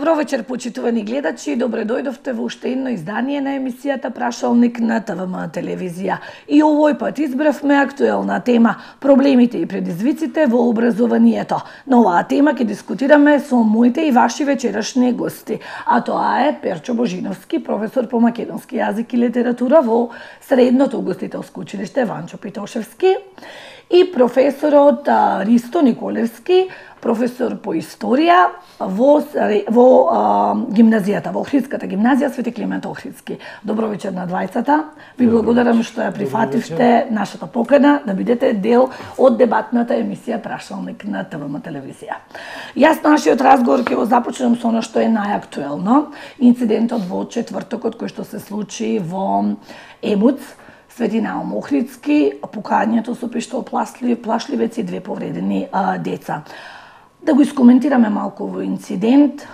Добро вечер, почитувани гледачи. Добре дојдовте во уште едно издание на емисијата Прашалник на ТВМ телевизија. И овој пат избравме актуелна тема – проблемите и предизвиците во образованието. На оваа тема ќе дискутираме со моите и ваши вечерашни гости. А тоа е Перчо Божиновски, професор по македонски јазик и литература во Средното угостителско училиште Ванчо Питошевски, и професорот Ристо Николевски, професор по историја во гимназијата, во Охридската гимназија Свети Климент Охридски. Добро вечер на двајцата. Ви благодарам што ја прифативте нашата покана да бидете дел од дебатната емисија Прашалник на ТВМ телевизија. Јас нашиот разговор ќе го започнем со она што е најактуелно. Инцидентот во четвртокот кој што се случи во Емуц, Свети Наум Охридски, пукањето со пиштол плашливец и 2 повредени деца. Да го искоментираме малку во инцидент,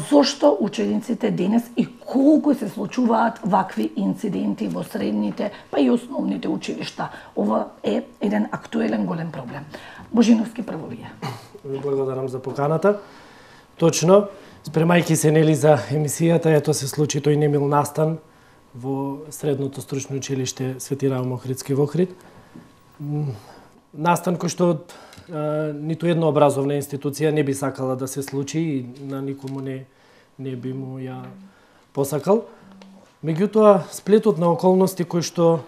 зошто учениците денес и колку се случуваат вакви инциденти во средните, па и основните училишта. Ова е еден актуелен голем проблем. Божиновски, прво вие. Благодарам за поканата. Точно, спремајќи се нели за емисијата, ето се случи тој немил настан во Средното стручно училиште Свети Наум Охридски во Охрид. Настан кој што ниту една образовна институција не би сакала да се случи и на никому не би му ја посакал. Меѓутоа, сплетот на околности кои што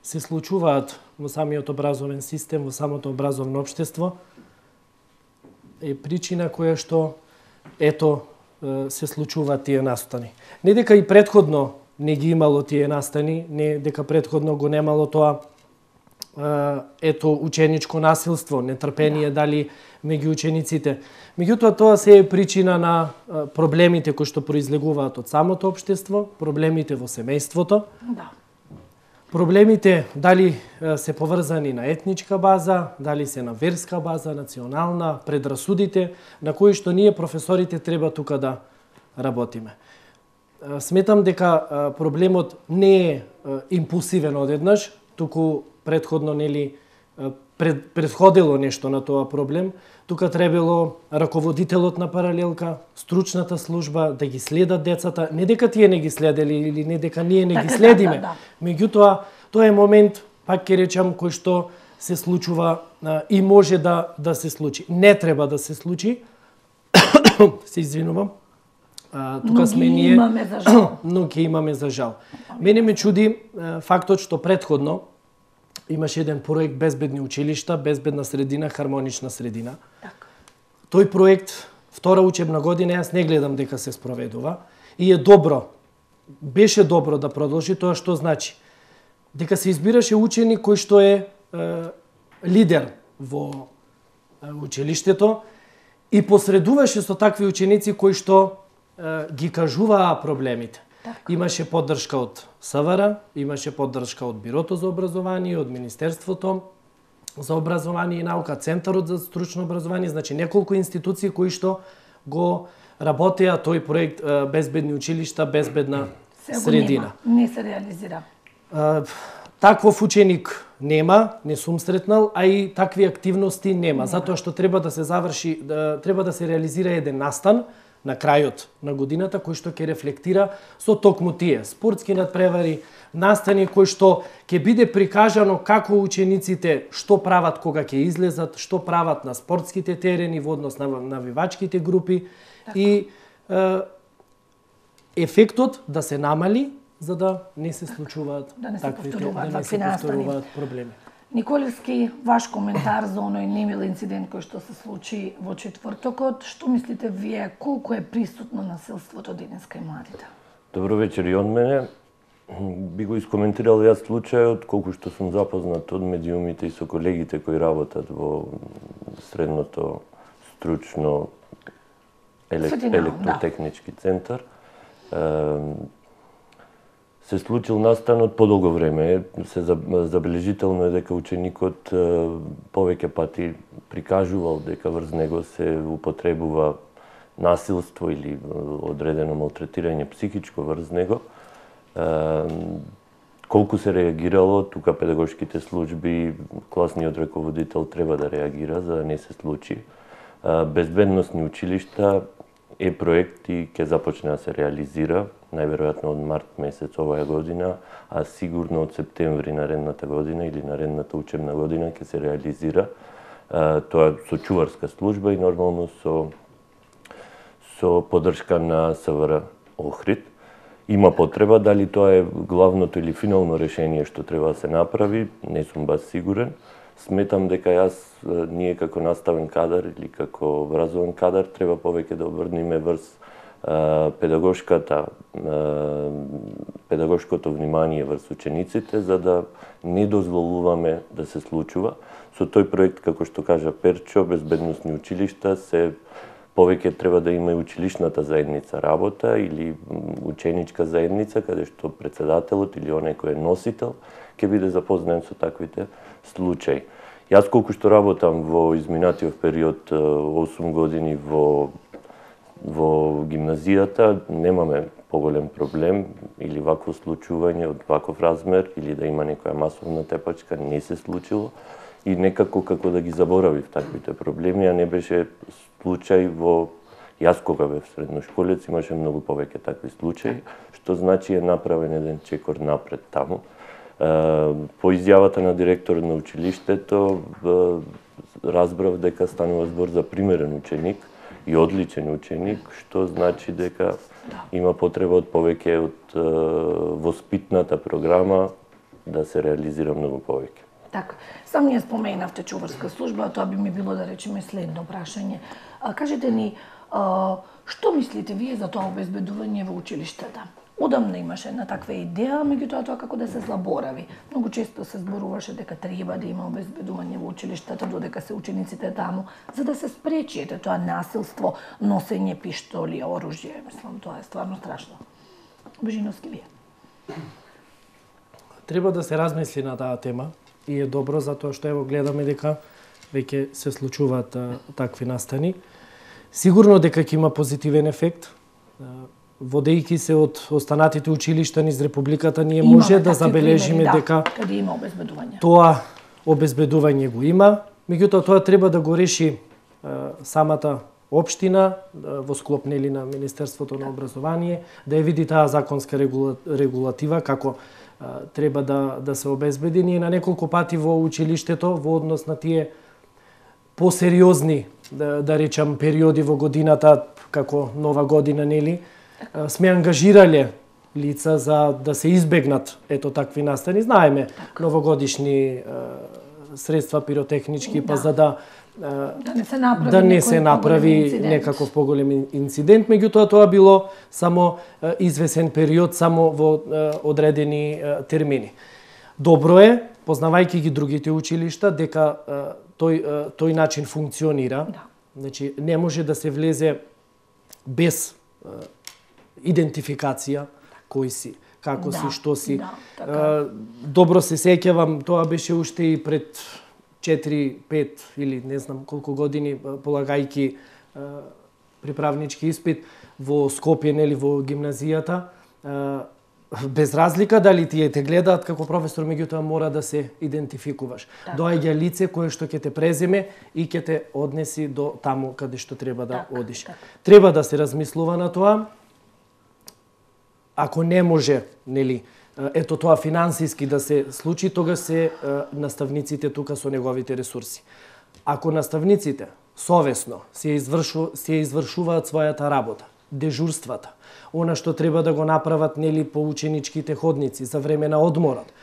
се случуваат во самиот образовен систем, во самото образовно општество, е причина која што се случуваат тие настани. Не дека и претходно не ги имало тие настани, не дека претходно го немало тоа ученичко насилство, нетрпение дали меѓу учениците. Меѓутоа тоа се е причина на проблемите кои што произлегуваат од самото општество, проблемите во семејството. Да. Проблемите дали се поврзани на етничка база, дали се на верска база, национална, предрасудите на кои што ние професорите треба тука да работиме. Сметам дека проблемот не е импулсивен одеднаш, туку предходно нели предходило нешто на тоа проблем. Тука требало раководителот на паралелка, стручната служба да ги следат децата, не дека тие не ги следели или не дека ние не ги следиме. Меѓутоа, тоа е момент, пак ќе речам, кој што се случува и може да се случи. Не треба да се случи. Се извинувам. Тука сме ние, но ќе имаме за жал. Мене ме чуди фактот што предходно имаше еден проект Безбедни училишта, безбедна средина, хармонична средина. Так. Тој проект, втора учебна година, јас не гледам дека се спроведува и е добро. Беше добро да продолжи, тоа што значи дека се избираше ученик кој што е лидер во училиштето и посредуваше со такви ученици кои што ги кажуваа проблемите. Так. Имаше поддршка од СВР, имаше поддршка од Бирото за образование, од Министерството за образование и наука, Центарот за стручно образование, значи неколку институции кои што го работеа тој проект Безбедни училишта, безбедна средина. Не се реализира. Таквов ученик нема, не сум сретнал, а и такви активности нема, затоа што треба да се заврши, треба да се реализира еден настан на крајот на годината, кој што ќе рефлектира со токму тие спортски надпревари, настани кои што ќе биде прикажано како учениците што прават кога ќе излезат, што прават на спортските терени во однос на навивачките групи. Так. И ефектот да се намали за да не се случуваат таквите проблеми. Николевски, ваш коментар за оној немил инцидент кој што се случи во четвртокот, што мислите вие, колку е присутно насилството денеска и младите? Добро вечер и од мене. Би го искоментирал јас случајот, колку што сум запознат од медиумите и со колегите кои работат во Средното стручно електротехнички центар. Се случил настанот подолго време. Се забележително е дека ученикот повеќе пати прикажувал дека врз него се употребува насилство или одредено малтретирање психичко врз него. Колку се реагирало, тука педагошките служби, класниот раководител треба да реагира за да не се случи. Безбедносни училишта проект и ќе започне да се реализира, најверојатно од март месец оваа година, а сигурно од септември наредната година или наредната учебна година ќе се реализира. Тоа со чуварска служба и нормално со поддршка на СВР Охрид. Има потреба, дали тоа е главното или финално решение што треба да се направи, не сум баш сигурен. Сметам дека ние како наставен кадар или како образован кадар треба повеќе да обрнеме врз педагошкото внимание врз учениците, за да не дозволуваме да се случува. Со тој проект, како што кажа Перчо, безбедносни училишта повеќе треба да има и училишната заедница работа или ученичка заедница, каде што председателот или оној кој е носител ќе биде запознаен со таквите случаи. Јас колку што работам во изминатиот период 8 години во гимназијата, немаме поголем проблем или вакво случување од ваков размер или да има некоја масовна тепачка, не се случило и некако како да ги заборавив таквите проблеми, а не беше случај Јас кога бев средношколец имаше многу повеќе такви случаи, што значи е направен еден чекор напред таму. По изјавата на директорот на училиштето разбрав дека станува збор за примерен ученик и одличен ученик, што значи дека има потреба од повеќе од воспитната програма да се реализира многу повеќе. Така, сам ние споменавте чуварска служба, тоа би ми било да речеме следно прашање. Кажете ни, што мислите вие за тоа обезбедување во училиштата? Одамна имаше една таква идеја, меѓутоа тоа како да се заборави. Многу често се зборуваше дека треба да има обезбедување во училиштата додека се учениците таму, за да се спречи тоа насилство, носење пиштоли, оружје. Мислам, тоа е стварно страшно. Божиновски вие. Треба да се размисли на таа тема и е добро затоа што ево гледаме дека веќе се случуваат такви настани. Сигурно дека ќе има позитивен ефект. Водејќи се од останатите училишта низ Републиката, ние може да забележиме дека каде има обезбедување. Тоа обезбедување го има, меѓутоа тоа треба да го реши самата општина во склоп на Министерството на образование, да ја види таа законска регулатива како треба да се обезбеди. Ние на неколку пати во училиштето во однос на тие посериозни, да речам, периоди во годината, како Нова година, нели, сме ангажирале лица за да се избегнат такви настани. Знаеме новогодишни средства пиротехнички, па за да не се направи некаков поголем инцидент, меѓутоа тоа било само извесен период, само во одредени термини. Добро е, познавајќи ги другите училишта, дека тој начин функционира. Значи, не може да се влезе без идентификација, кој си, како си, што си. Добро се сеќавам, тоа беше уште и пред 4, 5 или не знам колку години, полагајќи приправнички испит во Скопје, нели, во гимназијата. Без разлика дали тие те гледаат како професор, меѓутоа мора да се идентификуваш. Доаѓа лице кое што ќе те преземе и ќе те однеси до таму каде што треба да одиш. Треба да се размислува на тоа. Ако не може, нели, ето тоа финансиски да се случи, тога се наставниците тука со неговите ресурси. Ако наставниците совесно се извршуваат својата работа, дежурствата, она што треба да го направат, нели, по ученичките ходници за време на одморот,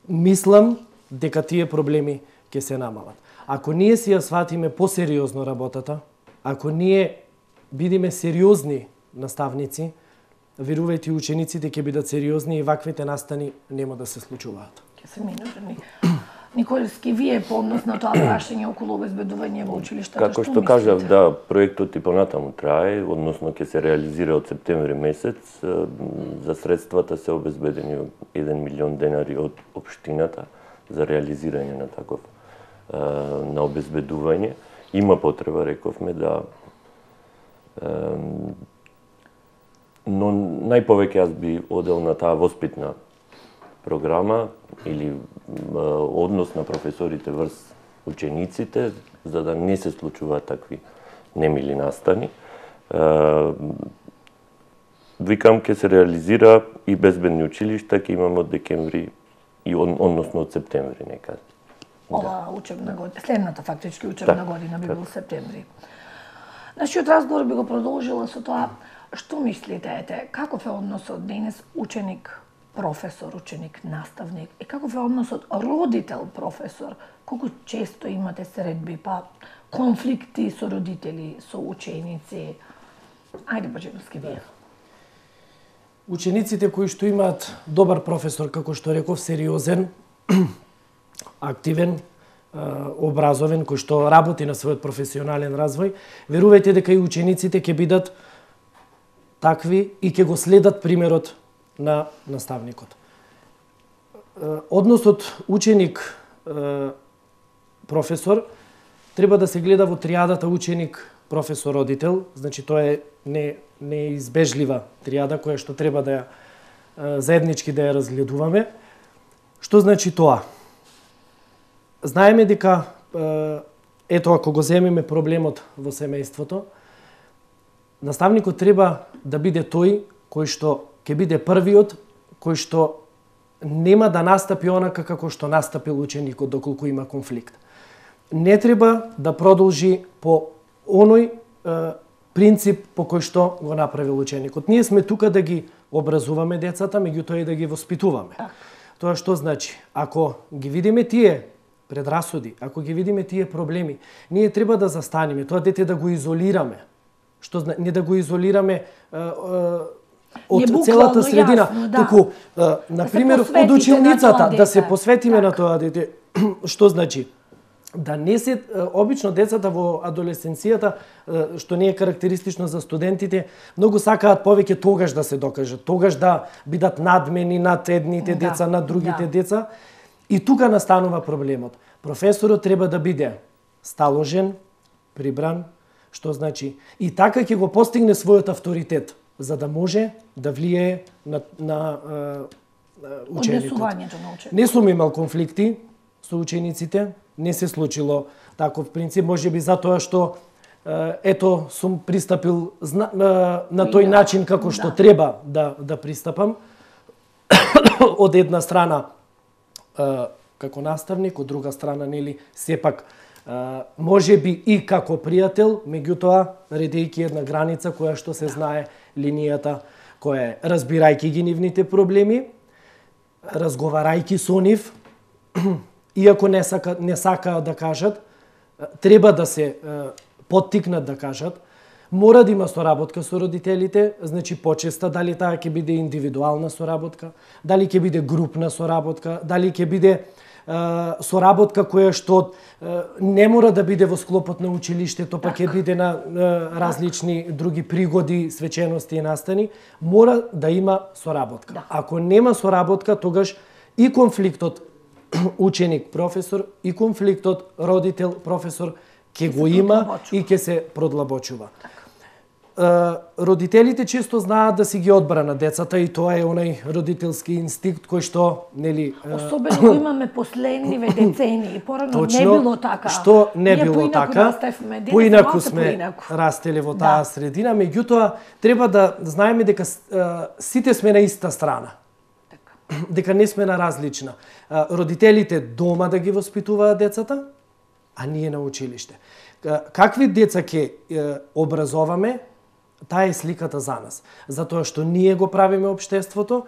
мислам дека тие проблеми ќе се намалат. Ако ние си ја сватиме посериозно работата, ако ние бидиме сериозни наставници, верувајте, учениците ќе бидат сериозни и ваквите настани нема да се случуваат. Ќе се минуваме. Николски, вие по однос на тоа прашање околу обезбедување во училиштата, како што кажав, да, проектот и понатаму трае, односно ќе се реализира од септември месец. За средствата се обезбедени 1 милион денари од општината за реализирање на таков на обезбедување. Има потреба, рековме, да но најповеќе јас би одел на таа воспитна програма или однос на професорите врз учениците, за да не се случуваат такви немили настани. Викам, ќе се реализира и безбедни училишта, ќе имаме од декември и односно од септември некаде. Ова учебна година, следната фактички учебна година би бил септември. Нашиот разговор би го продолжила со тоа, што мислите, каков е односот денес ученик-професор, ученик-наставник, и каков е односот родител-професор, колку често имате средби, па конфликти со родители, со ученици? Ајде, Баџиновски, вие. Учениците кои што имаат добар професор, како што реков, сериозен, активен, образовен, кој што работи на својот професионален развој, верувајте дека и учениците ќе бидат такви и ќе го следат примерот на наставникот. Односот ученик професор треба да се гледа во триадата ученик професор родител, значи тоа е неизбежлива триада која што треба да ја заеднички да ја разгледуваме. Што значи тоа? Знаеме дека ето ако го земеме проблемот во семејството, наставникот треба да биде тој кој што ќе биде првиот кој што нема да настапи онака како што настапил ученикот доколку има конфликт. Не треба да продолжи по оној принцип по кој што го направил ученикот. Ние сме тука да ги образуваме децата, меѓутоа и да ги воспитуваме. Тоа што значи? Ако ги видиме тие предрасуди, ако ги видиме тие проблеми, ние треба да застанеме, тоа дете да го изолираме. Што не да го изолираме од целата средина, туку на пример од училницата да се посветиме на тоа дете. Што значи? Да не се обично децата во адолесценцијата, што не е карактеристично за студентите, многу сакаат повеќе тогаш да се докажат, тогаш да бидат надмени над едните деца, над другите деца. И тука настанува проблемот. Професорот треба да биде сталожен, прибран, што значи и така ќе го постигне својот авторитет, за да може да влијае на ученикот. Не сум имал конфликти со учениците, не се случило таков принцип, можеби затоа што ето сум пристапил на тој начин како што треба да пристапам. Од една страна како наставник, од друга страна нели сепак можеби и како пријател, меѓутоа редејќи една граница која што се знае линијата која е разбирајќи ги нивните проблеми, разговарајќи со нив, иако не сакаат да кажат, треба да се поттикнат да кажат, мора да има соработка со родителите, значи почеста, дали таа ќе биде индивидуална соработка, дали ќе биде групна соработка, дали ќе биде соработка која што не мора да биде во склопот на училиштето, па ќе биде на различни други пригоди, свечености и настани, мора да има соработка. Ако нема соработка, тогаш и конфликтот ученик-професор и конфликтот родител-професор ќе го има и ќе се продлабочува. Родителите често знаат да си ги одбранат децата и тоа е онај родителски инстинкт кој што нели особено кога имаме последниве децении, порано не било така. Што не било така? Поинаку сме растеле во таа средина, меѓутоа треба да знаеме дека сите сме на иста страна. Дека не сме на различна. Родителите дома да ги воспитуваат децата, а ние на училиште. Какви деца ќе образоваме, таа е сликата за нас. Затоа што ние го правиме општеството,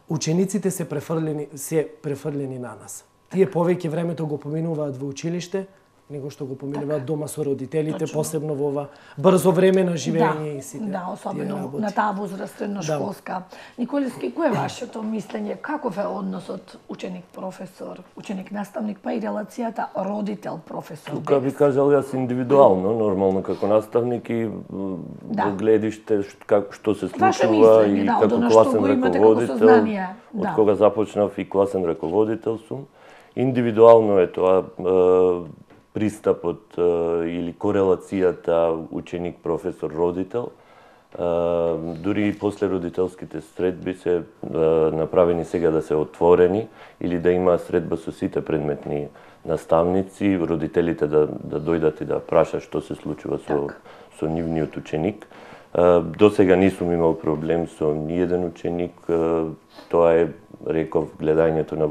учениците се префрлени на нас. Тие повеќе времето го поминуваат во училиште, него што го поминуваат дома со родителите, посебно во ова брзо време на живење и сите. Да, особено на таа возраст средношколска. Николиски, кој е вашето мислење? Каков е односот ученик-професор, ученик-наставник, па и релацијата родител-професор? Тука би кажал јас индивидуално, нормално како наставник и во гледиште што се случува и како класен раководител, од кога започнав и класен раководител сум. Индивидуално е тоа пристапот или корелацијата ученик-професор-родител. Дури и после родителските средби се направени сега да се отворени или да има средба со сите предметни наставници, родителите да дојдат и да прашаат што се случува со нивниот ученик. До сега не сум имал проблем со ниеден ученик, тоа е, реков, гледањето на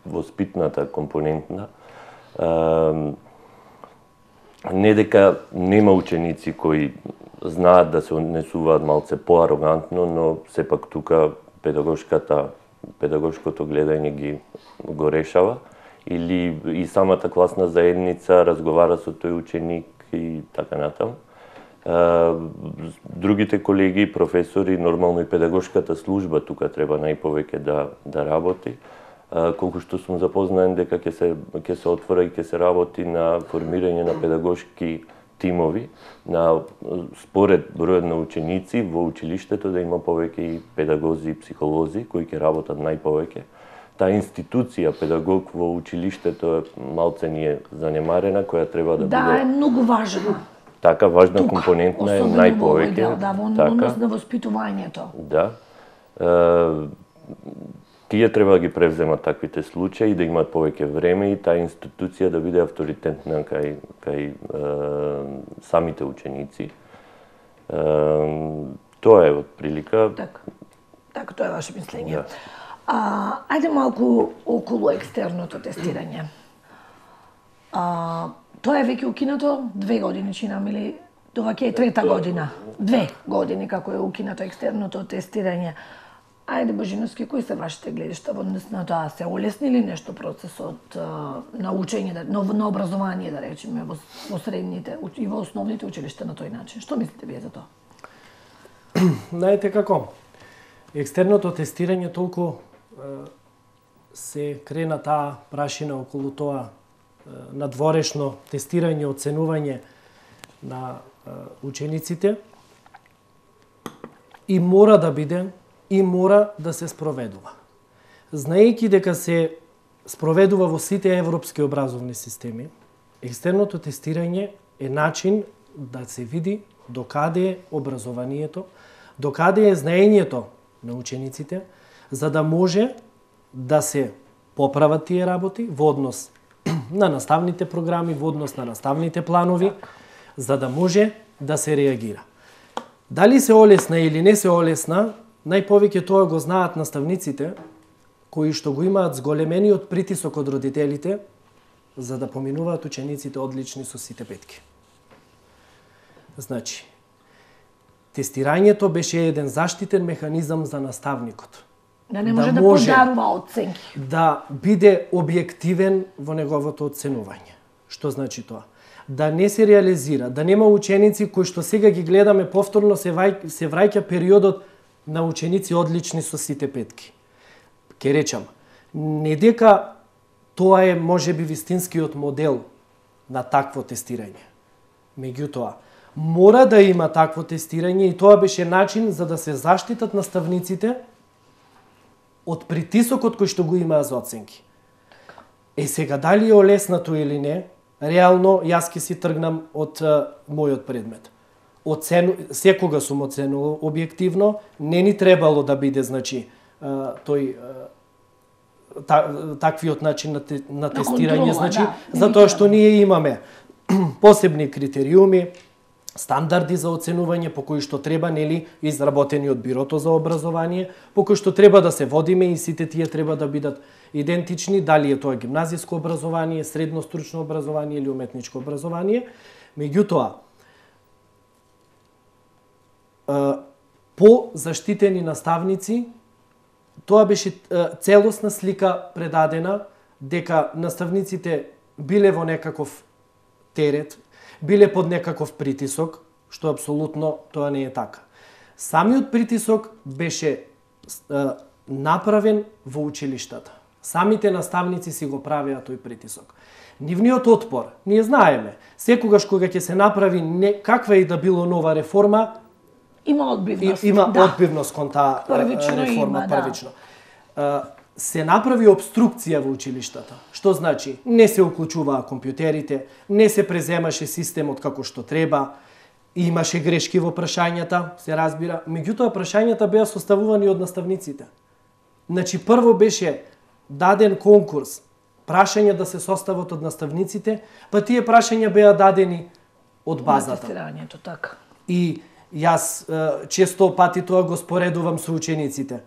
воспитната компонентна. Не дека нема ученици кои знаат да се однесуваат малце поарогантно, но сепак тука педагошкото гледање го решава, или и самата класна заедница разговара со тој ученик и така натаму. Другите колеги, професори, нормално и педагошката служба тука треба најповеќе да работи. Колку што сум запознаен дека ќе се отвора и ќе се работи на формирање на педагошки тимови, според бројот на ученици во училиштето да има повеќе и педагози и психолози кои ќе работат најповеќе. Таа институција педагог во училиштето малце ни е занемарена, која треба да биде... Да, е многу важна. Така, важна компонентна е најповеќе. Да, во однос на воспитувањето. Да. Тие треба да ги превземат таквите случаи, да имаат повеќе време и таа институција да биде авторитетна кај самите ученици. Тоа е од прилика. Така, тоа е ваше мислење. Ајде малку околу екстерното тестирање. Тоа е веќе укинато 2 години, чинам, или тоа ќе е 3-та година. 2 години како е укинато екстерното тестирање. Ајде, Божиновски, кои се вашите гледишта во однос на тоа? Се олесни ли нешто процесот на учење, на образование, да речеме, во средните и во основните училишта на тој начин? Што мислите вие за тоа? Знаете како? Екстерното тестирање толку се крена таа прашина околу тоа надворешно тестирање, оценување на учениците и мора да биде и мора да се спроведува. Знаејќи дека се спроведува во сите европски образовни системи, екстерното тестирање е начин да се види докаде е образованието, докаде е знаењето на учениците, за да може да се поправат тие работи во однос на наставните програми, во однос на наставните планови, за да може да се реагира. Дали се олесна или не се олесна, најповеќе тоа го знаат наставниците, кои што го имаат зголемениот притисок од родителите, за да поминуваат учениците одлични со сите петки. Значи, тестирањето беше еден заштитен механизам за наставникот. Да не може да подарува оценки. Да биде објективен во неговото оценување. Што значи тоа? Да не се реализира, да нема ученици кои што сега ги гледаме повторно се враќа периодот на ученици одлични со сите петки. Ке речам, не дека тоа е можеби вистинскиот модел на такво тестирање. Меѓутоа, мора да има такво тестирање и тоа беше начин за да се заштитат наставниците од притисокот кој што го имаа за оценки. Сега, дали е олеснато или не, реално јас ќе си тргнам од мојот предмет. Секога сум оценувал објективно, не ни требало да биде, значи, таквиот начин на тестирање, значи, затоа што ние имаме посебни критериуми, стандарди за оценување по кои што треба, нели, изработени од Бирото за образование, по кои што треба да се водиме и сите тие треба да бидат идентични, дали е тоа гимназиско образование, средно стручно образование или уметничко образование. Меѓутоа, по заштитени наставници, тоа беше целосна слика предадена дека наставниците биле во некаков терет, биле под некаков притисок, што апсолутно тоа не е така. Самиот притисок беше направен во училиштата. Самите наставници си го правеа тој притисок. Нивниот отпор, ние знаеме, секогаш кога ќе се направи каква и да било нова реформа, има одбивност. Има одбивност кон таа реформа првично. Се направи обструкција во училиштата. Што значи? Не се уклучуваа компјутерите, не се преземаше системот како што треба, имаше грешки во прашањата, се разбира. Меѓутоа, прашањата беа составувани од наставниците. Значи, прво беше даден конкурс, прашања да се состават од наставниците, па тие прашања беа дадени од базата. Тестирањето, така. И Јас често пати тоа го споредувам со учениците.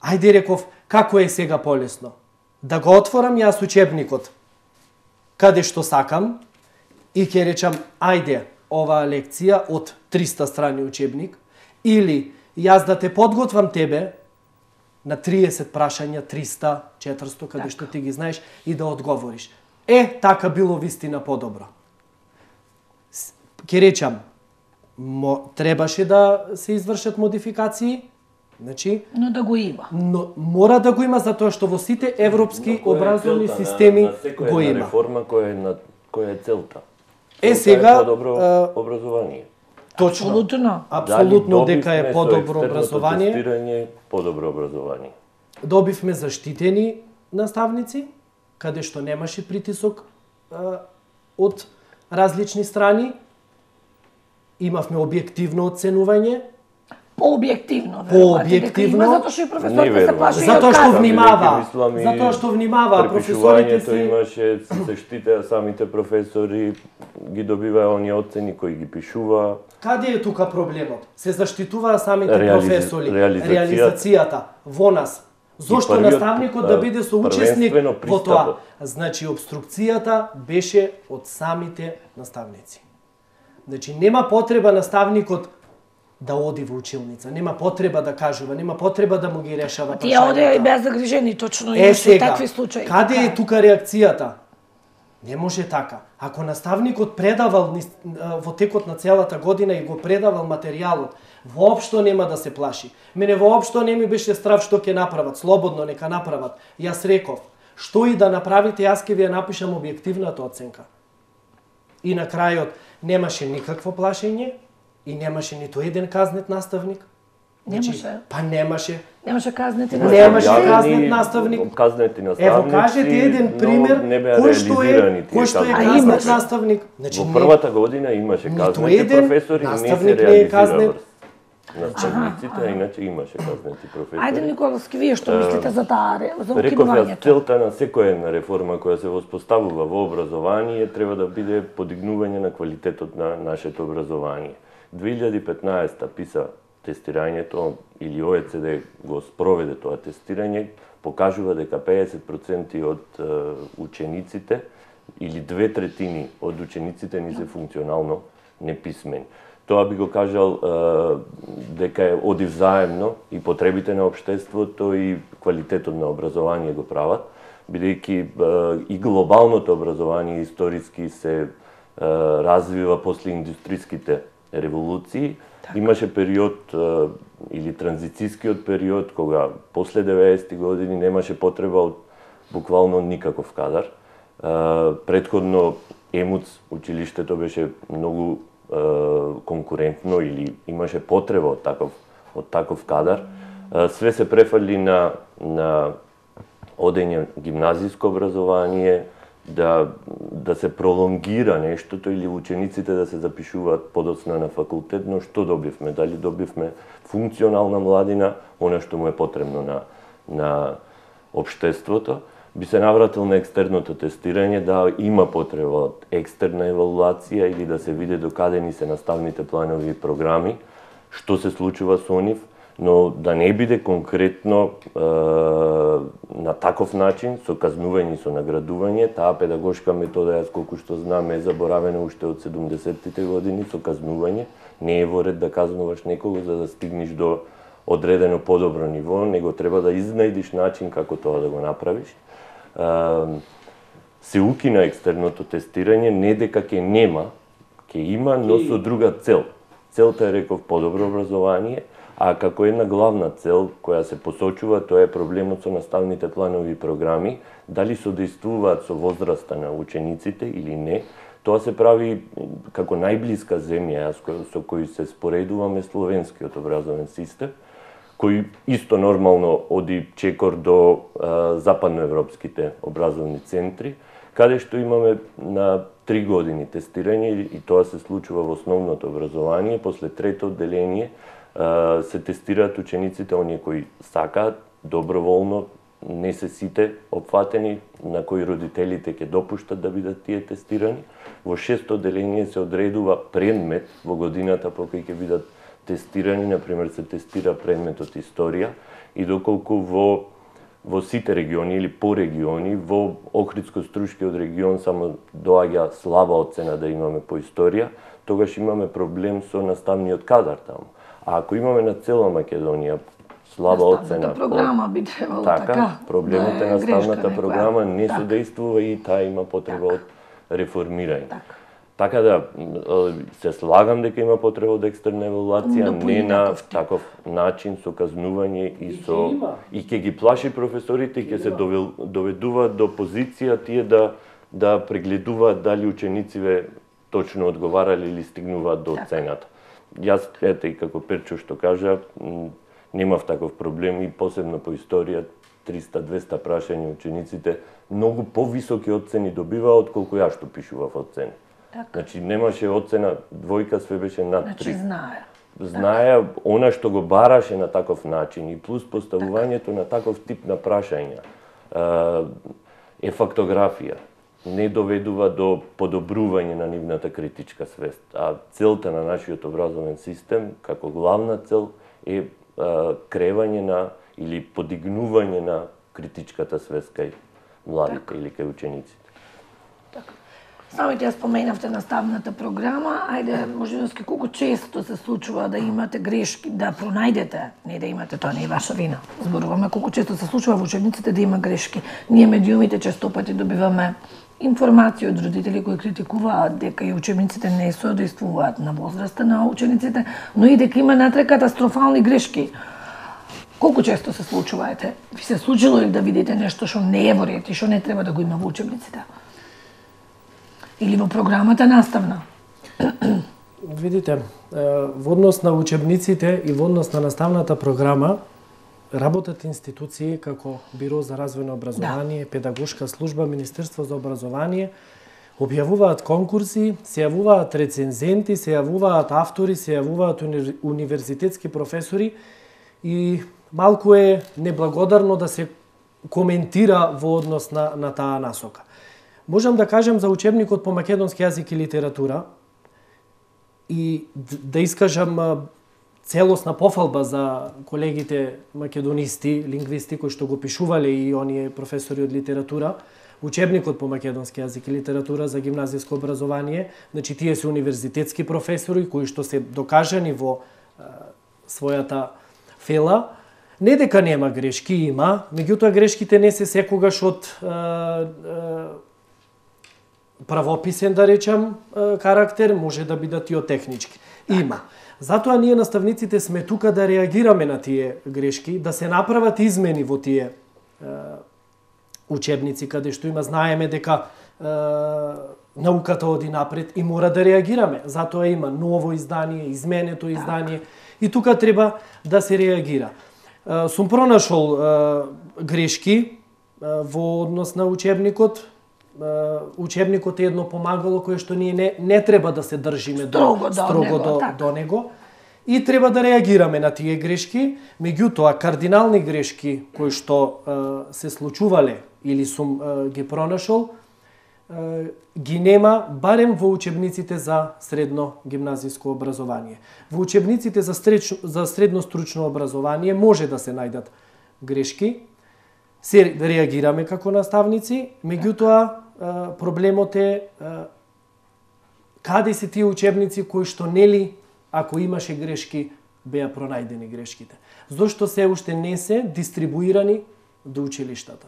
Ајде, реков, како е сега полесно? Да го отворам јас учебникот, каде што сакам, и ќе речам, ајде, оваа лекција од 300 страни учебник, или јас да те подготвам тебе на 30 прашања, 300, 400, каде што ти ги знаеш, и да одговориш. Така било вистина подобро. Ќе речам, требаше да се извршат модификации, значи, но да го има. Но мора да го има затоа што во сите европски образовни системи го има. Реформа која е целта. Сега подобро образование. Точно. Апсолутно дека е подобро образование. Тестирање, подобро образование. Добивме заштитени наставници, каде што немаше притисок од различни страни. Имавме објективно оценување. Пообјективно, затоа што и професорите се плашеа. Затоа што внимава, професорите си имаше се штитеа самите професори, ги добиваа оние оцени кои ги пишува. Каде е тука проблемот? Се заштитуваа самите професори, реализацијата во нас. Зошто наставникот да биде соучесник во тоа? Значи, обструкцијата беше од самите наставници. Значи, нема потреба наставникот да оди во училница, нема потреба да кажува, нема потреба да му ги решава прашањата. Тие одеа и без загрижени, точно имаше такви случаи. Каде е тука реакцијата? Не може така. Ако наставникот предавал во текот на целата година и го предавал материјалот, воопшто нема да се плаши. Мене воопшто не ми беше страв што ќе направат, слободно нека направат. Јас реков, што и да направите, јас ќе ви ја напишам објективната оценка. И на крајот немаше никакво плашење и немаше ниту еден казнет наставник. Немаше. Па немаше. Немаше казнети наставник. Немаше казнет наставник. Казнети наставници. Ево кажете еден пример кој што е казнет наставник. Значи, во првата година имаше казнети професори и не се реализира наставниците, а иначе имаше казнети професори. Ајде, Николовски, вие што мислите за таа за укинувањето? Реков, целта на секоја една реформа која се воспоставува во образование треба да биде подигнување на квалитетот на нашето образование. 2015 писа тестирањето или ОЕЦД го спроведе тоа тестирање, покажува дека 50% од учениците или 2/3 од учениците ни се функционално неписмени. Тоа би го кажал дека е оди взаемно и потребите на општеството и квалитетот на образование го прават, бидејќи и глобалното образование историски се развива после индустријските револуции. Имаше период или транзицијскиот период кога после 90-ти години немаше потреба од буквално никаков кадар. Претходно ЕМУЦ училиштето беше многу конкурентно или имаше потреба од таков кадар. Све се префали на одење гимназиско образование, да се пролонгира нештото или учениците да се запишуваат подоцна на факултет, но што добивме? Дали добивме функционална младина, она што му е потребно на општеството? Би се навратил на екстерното тестирање, да има потреба од екстерна евалуација или да се види докаде ни се наставните планови и програми, што се случува со нив, но да не биде конкретно на таков начин, со казнување и со наградување. Таа педагошка метода, јас колку што знам, е заборавена уште од 70-тите години, со казнување. Не е во ред да казнуваш некого за да стигнеш до одредено подобро ниво, него треба да изнајдиш начин како тоа да го направиш. Се укина екстерното тестирање, не дека ќе нема, ќе има, но со друга цел. Целта е, реков, подобро образование, а како една главна цел која се посочува, тоа е проблемот со наставните планови и програми, дали содействуваат со возраста на учениците или не. Тоа се прави како најблиска земја со кој се споредуваме словенскиот образовен систем, кој исто нормално оди чекор до западноевропските образовни центри, каде што имаме на 3 години тестирање и тоа се случува во основното образование. После трето одделение се тестираат учениците, оние кои сакаат, доброволно, не се сите опфатени, на кои родителите ќе допуштат да бидат тие тестирани. Во шесто одделение се одредува предмет во годината по кој ќе бидат тестирани, например се тестира предметот историја и доколку во сите региони или по региони, во Охридско-Струшкиот регион само доаѓа слаба оцена да имаме по историја, тогаш имаме проблем со наставниот кадар таму. А ако имаме на цела Македонија слаба оцена, програма би требало така, проблемот е наставната програма не содействува и таа има потреба од реформирање. Така да се слагам дека има потреба од екстерна евалуација, не на таков начин со казнување и ќе ги плаши професорите, ќе се доведуваат до позиција тие да прегледуваат дали ученициве точно одговарале или стигнуваат до оцената. Јас ете и како Перчо што кажа, немав таков проблем и посебно по историја 300-200 прашања учениците многу повисоки оцени добиваа отколку јас што пишував оцени. Значи немаше оцена двојка, све беше над 3. Значи знаеа она што го бараше на таков начин и плюс поставувањето на таков тип на прашања е фактографија. Не доведува до подобрување на нивната критичка свест, а целта на нашиот образовен систем како главна цел е кревање на или подигнување на критичката свест кај младите или кај учениците. Самите ја споменавте наставната програма, ајде моженоски колку често се случува да имате грешки, да пронајдете, не да имате, тоа не е ваша вина. Зборуваме колку често се случува во учебниците да има грешки. Ние медиумите често пати добиваме информација од родители кои критикуваат дека и учебниците не соодействуваат на возраста на учениците, но и дека има натре катастрофални грешки. Колку често се случува, ви се случило ли да видите нешто што не е во ред и што не треба да го има во учебниците? Или во програмата наставна? Видите, во однос на учебниците и во однос на наставната програма работат институции како Биро за развојно образование, Педагошка служба, Министерство за образование, објавуваат конкурси, се јавуваат рецензенти, се јавуваат автори, се јавуваат универзитетски професори и малку е неблагодарно да се коментира во однос на таа насока. Можам да кажам за учебникот по македонски јазик и литература и да искажам целосна пофалба за колегите македонисти, лингвисти кои што го пишувале и оние професори од литература, учебникот по македонски јазик и литература за гимназиско образование, значи тие се универзитетски професори кои што се докажани во својата фела. Не дека нема грешки, има, меѓутоа грешките не се секогаш од правописен, да речам, карактер, може да бидат и од технички. Има. Затоа ние наставниците сме тука да реагираме на тие грешки, да се направат измени во тие учебници, каде што има, знаеме дека науката оди напред и мора да реагираме. Затоа има ново издание, изменето издание и тука треба да се реагира. Сум пронашол грешки во однос на учебникот. Учебникот е едно помагало кое што ние не треба да се држиме строго до него и треба да реагираме на тие грешки, меѓутоа кардинални грешки кои што се случувале или сум ги пронашол, ги нема барем во учебниците за средно гимназиско образование. Во учебниците за средно стручно образование може да се најдат грешки, се реагираме како наставници, меѓутоа проблемот е каде се тие учебници кои што нели ако имаше грешки беа пронајдени грешките. Зошто се уште не се дистрибуирани до училиштата.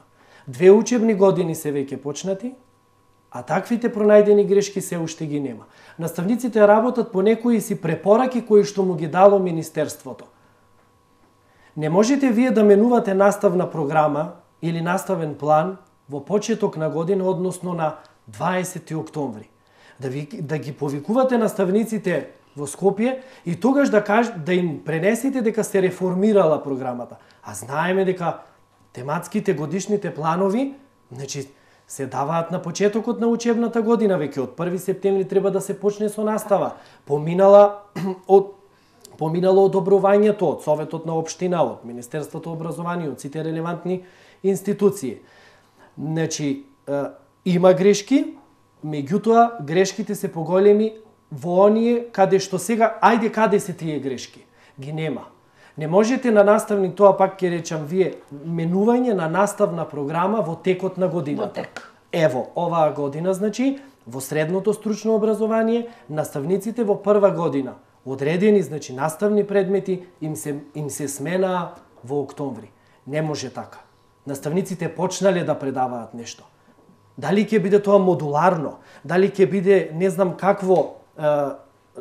2 учебни години се веќе почнати, а таквите пронајдени грешки се уште ги нема. Наставниците работат по некои си препораки кои што му ги дало Министерството. Не можете вие да менувате наставна програма или наставен план во почеток на година, односно на 20 октомври. Да ги повикувате наставниците во Скопје и тогаш да им пренесете дека се реформирала програмата. А знаеме дека тематските годишните планови, значи, се даваат на почетокот на учебната година, веќе од 1 септември треба да се почне со настава. Поминало одобрувањето од Советот на општина, од Министерството образование, од сите релевантни институции. Значи, има грешки, меѓутоа грешките се поголеми во оние каде што сега, ајде каде се тие грешки. ги нема. Не можете на наставник, тоа пак ќе речам вие, менување на наставна програма во текот на годината. Ево, оваа година, значи, во средното стручно образование, наставниците во прва година, одредени, значи, наставни предмети, им се сменаа во октомври. Не може така. Наставниците почнале да предаваат нешто. Дали ќе биде тоа модуларно, дали ќе биде не знам какво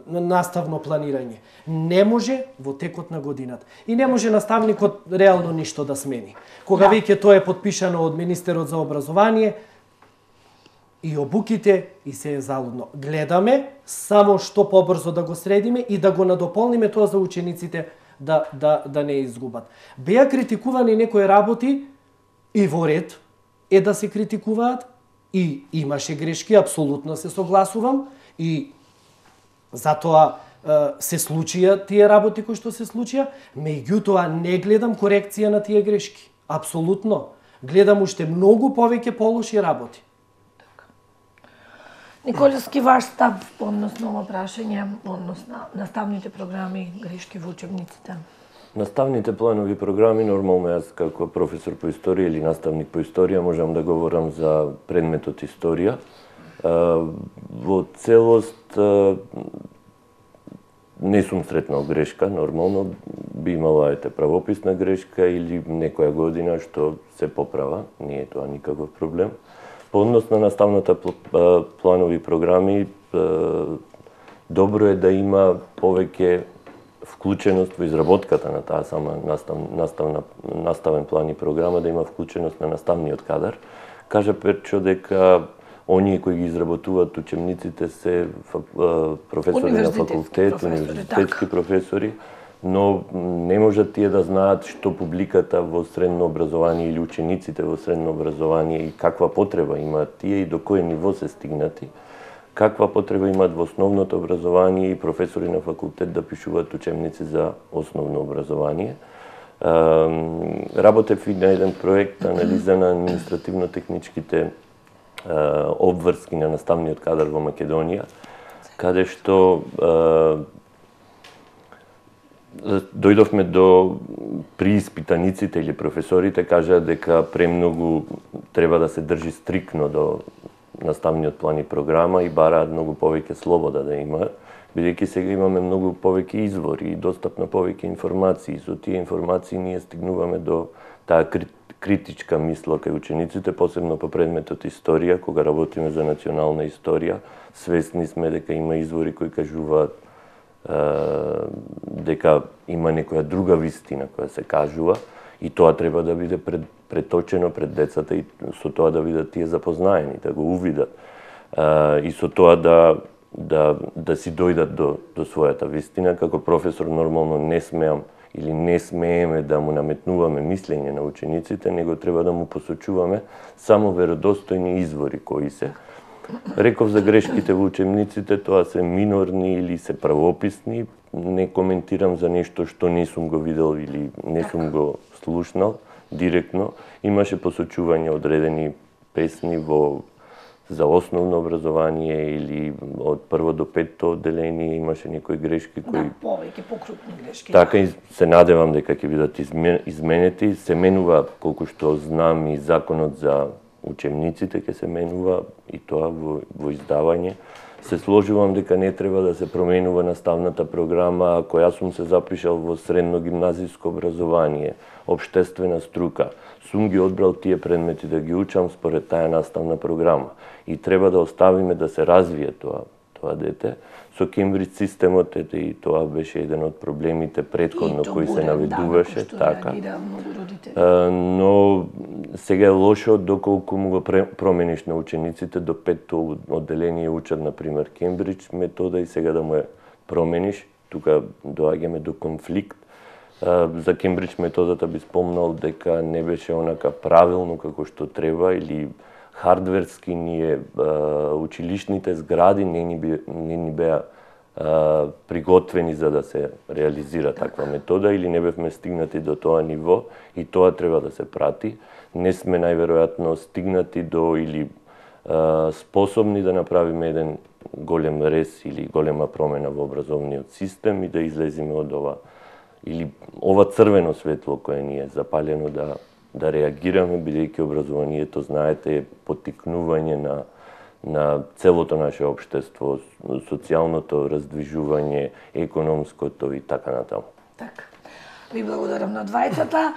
наставно планирање. Не може во текот на годината. И не може наставникот реално ништо да смени. Кога веќе тоа е подпишано од министерот за образование, и обуките и се е залудно. Гледаме само што побрзо да го средиме и да го надополниме тоа за учениците да не изгубат. Беа критикувани некои работи и во ред е да се критикуваат и имаше грешки, апсолутно се согласувам и затоа се случија тие работи кои што се случија, меѓутоа не гледам корекција на тие грешки. Апсолутно. Гледам уште многу повеќе полоши работи. Николевски, ваш став односно ова прашање, односно наставните програми, грешки во учебниците? Наставните планови програми, нормално јас како професор по историја или наставник по историја можам да говорам за предметот историја. Во целост не сум сретнал грешка, нормално би имала правописна грешка или некоја година што се поправа, не е тоа никаков проблем. По однос на наставната планови програми, добро е да има повеќе вклученост во изработката на таа сама наставен план и програма, да има вклученост на наставниот кадар. Кажа Перчо дека оние кои ги изработуваат учебниците се професори на факултет, универзитетски професори, но не можат тие да знаат што публиката во средно образование или учениците во средно образование и каква потреба имаат тие и до кој ниво се стигнати, каква потреба имаат во основното образование и професори на факултет да пишуваат учебници за основно образование. Работев и на еден проект анализа на административно-техничките обврски на наставниот кадар во Македонија, каде што дојдовме до прииспитаниците или професорите кажаа дека премногу треба да се држи стрикно до наставниот план и програма и бараат многу повеќе слобода да има, бидејќи сега имаме многу повеќе извори и достапно повеќе информации. Со тие информации ние стигнуваме до таа критичка мисла кај учениците, посебно по предметот историја, кога работиме за национална историја, свесни сме дека има извори кои кажуваат дека има некоја друга вистина која се кажува и тоа треба да биде преточено пред децата и со тоа да бидат тие запознаени, да го увидат и со тоа да си дојдат до својата вистина. Како професор нормално не смеам или не смееме да му наметнуваме мислење на учениците, него треба да му посочуваме само веродостојни извори кои се. Реков за грешките во учебниците, тоа се минорни или се правописни, не коментирам за нешто што не сум го видел или не сум го слушнал директно. Имаше посочување одредени песни за основно образование или од прво до петто одделение имаше некои грешки кои повеќе покрупни грешки. Така и се надевам дека ќе бидат изменети. Се менува колку што знам и законот за учебниците ќе се менува и тоа во издавање. Се сложувам дека не треба да се променува наставната програма ако јас сум се запишал во средно гимназиско образование, општествена струка. Сум ги одбрал тие предмети да ги учам според таа наставна програма и треба да оставиме да се развие тоа дете. Со Кембридж системот и тоа беше еден од проблемите претходно кои се наведуваше, така. Но сега е лошо доколку му го промениш на учениците до петто одделение учат на пример Кембридж метода и сега да му ја промениш, тука доаѓаме до конфликт. За Кембридж методата би спомнал дека не беше онака правилно како што треба или хардверски ние училишните згради не ни беа приготвени за да се реализира таква метода или не бевме стигнати до тоа ниво и тоа треба да се прати. Не сме најверојатно стигнати до или способни да направиме еден голем рез или голема промена во образовниот систем и да излеземе од ова или ова црвено светло кое ни е запалено да реагираме, бидејќи образованието, знаете, е поттикнување на целото наше општество, социјалното раздвижување, економското и така натаму. Така. Ви благодарам на двајцата.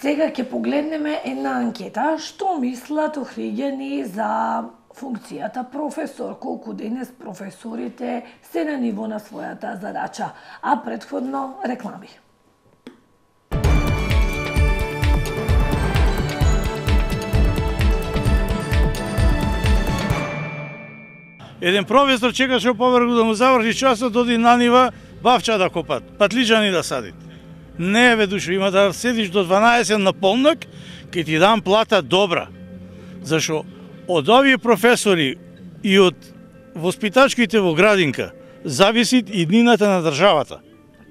Сега ќе погледнеме една анкета. Што мислат охриѓани за функцијата професор? Колку денес професорите се на ниво на својата задача? А претходно реклами. Еден професор чекаше поврху да му заврши часот, оди на нива бавча да копат, патлиџани да садит. Не, бе, душо, има да седиш до 12 на полнок, ке ти дам плата добра. Зашо од овие професори и од воспитачките во градинка зависи и иднината на државата.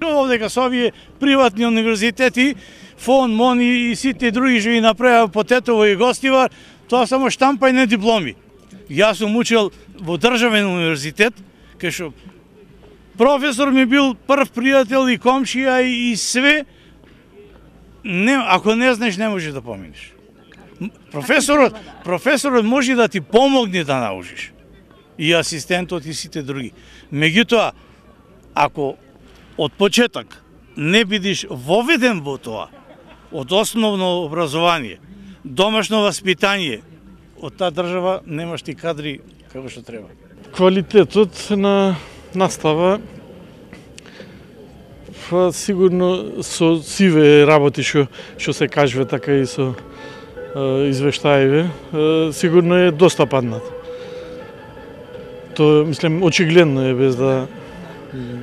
Овдека со овие приватни универзитети, ФОН, МОН и сите други што ги направија по Тетово и Гостивар, тоа само штампање дипломи. Јас сум учел во државен универзитет, кај што професор ми бил прв пријател и комшија и све. Не, ако не знаеш, не можеш да поминеш. Професорот може да ти помогне да научиш. И асистентот и сите други. Меѓутоа, ако од почеток не бидеш воведен во тоа, од основно образование, домашно васпитание, од таа држава немаш ти кадри како што треба. Квалитетот на настава сигурно со сиве работи што се кажува, така и со извештаиве, сигурно е доста паднат. Тоа, мислам, очигледно е, без да...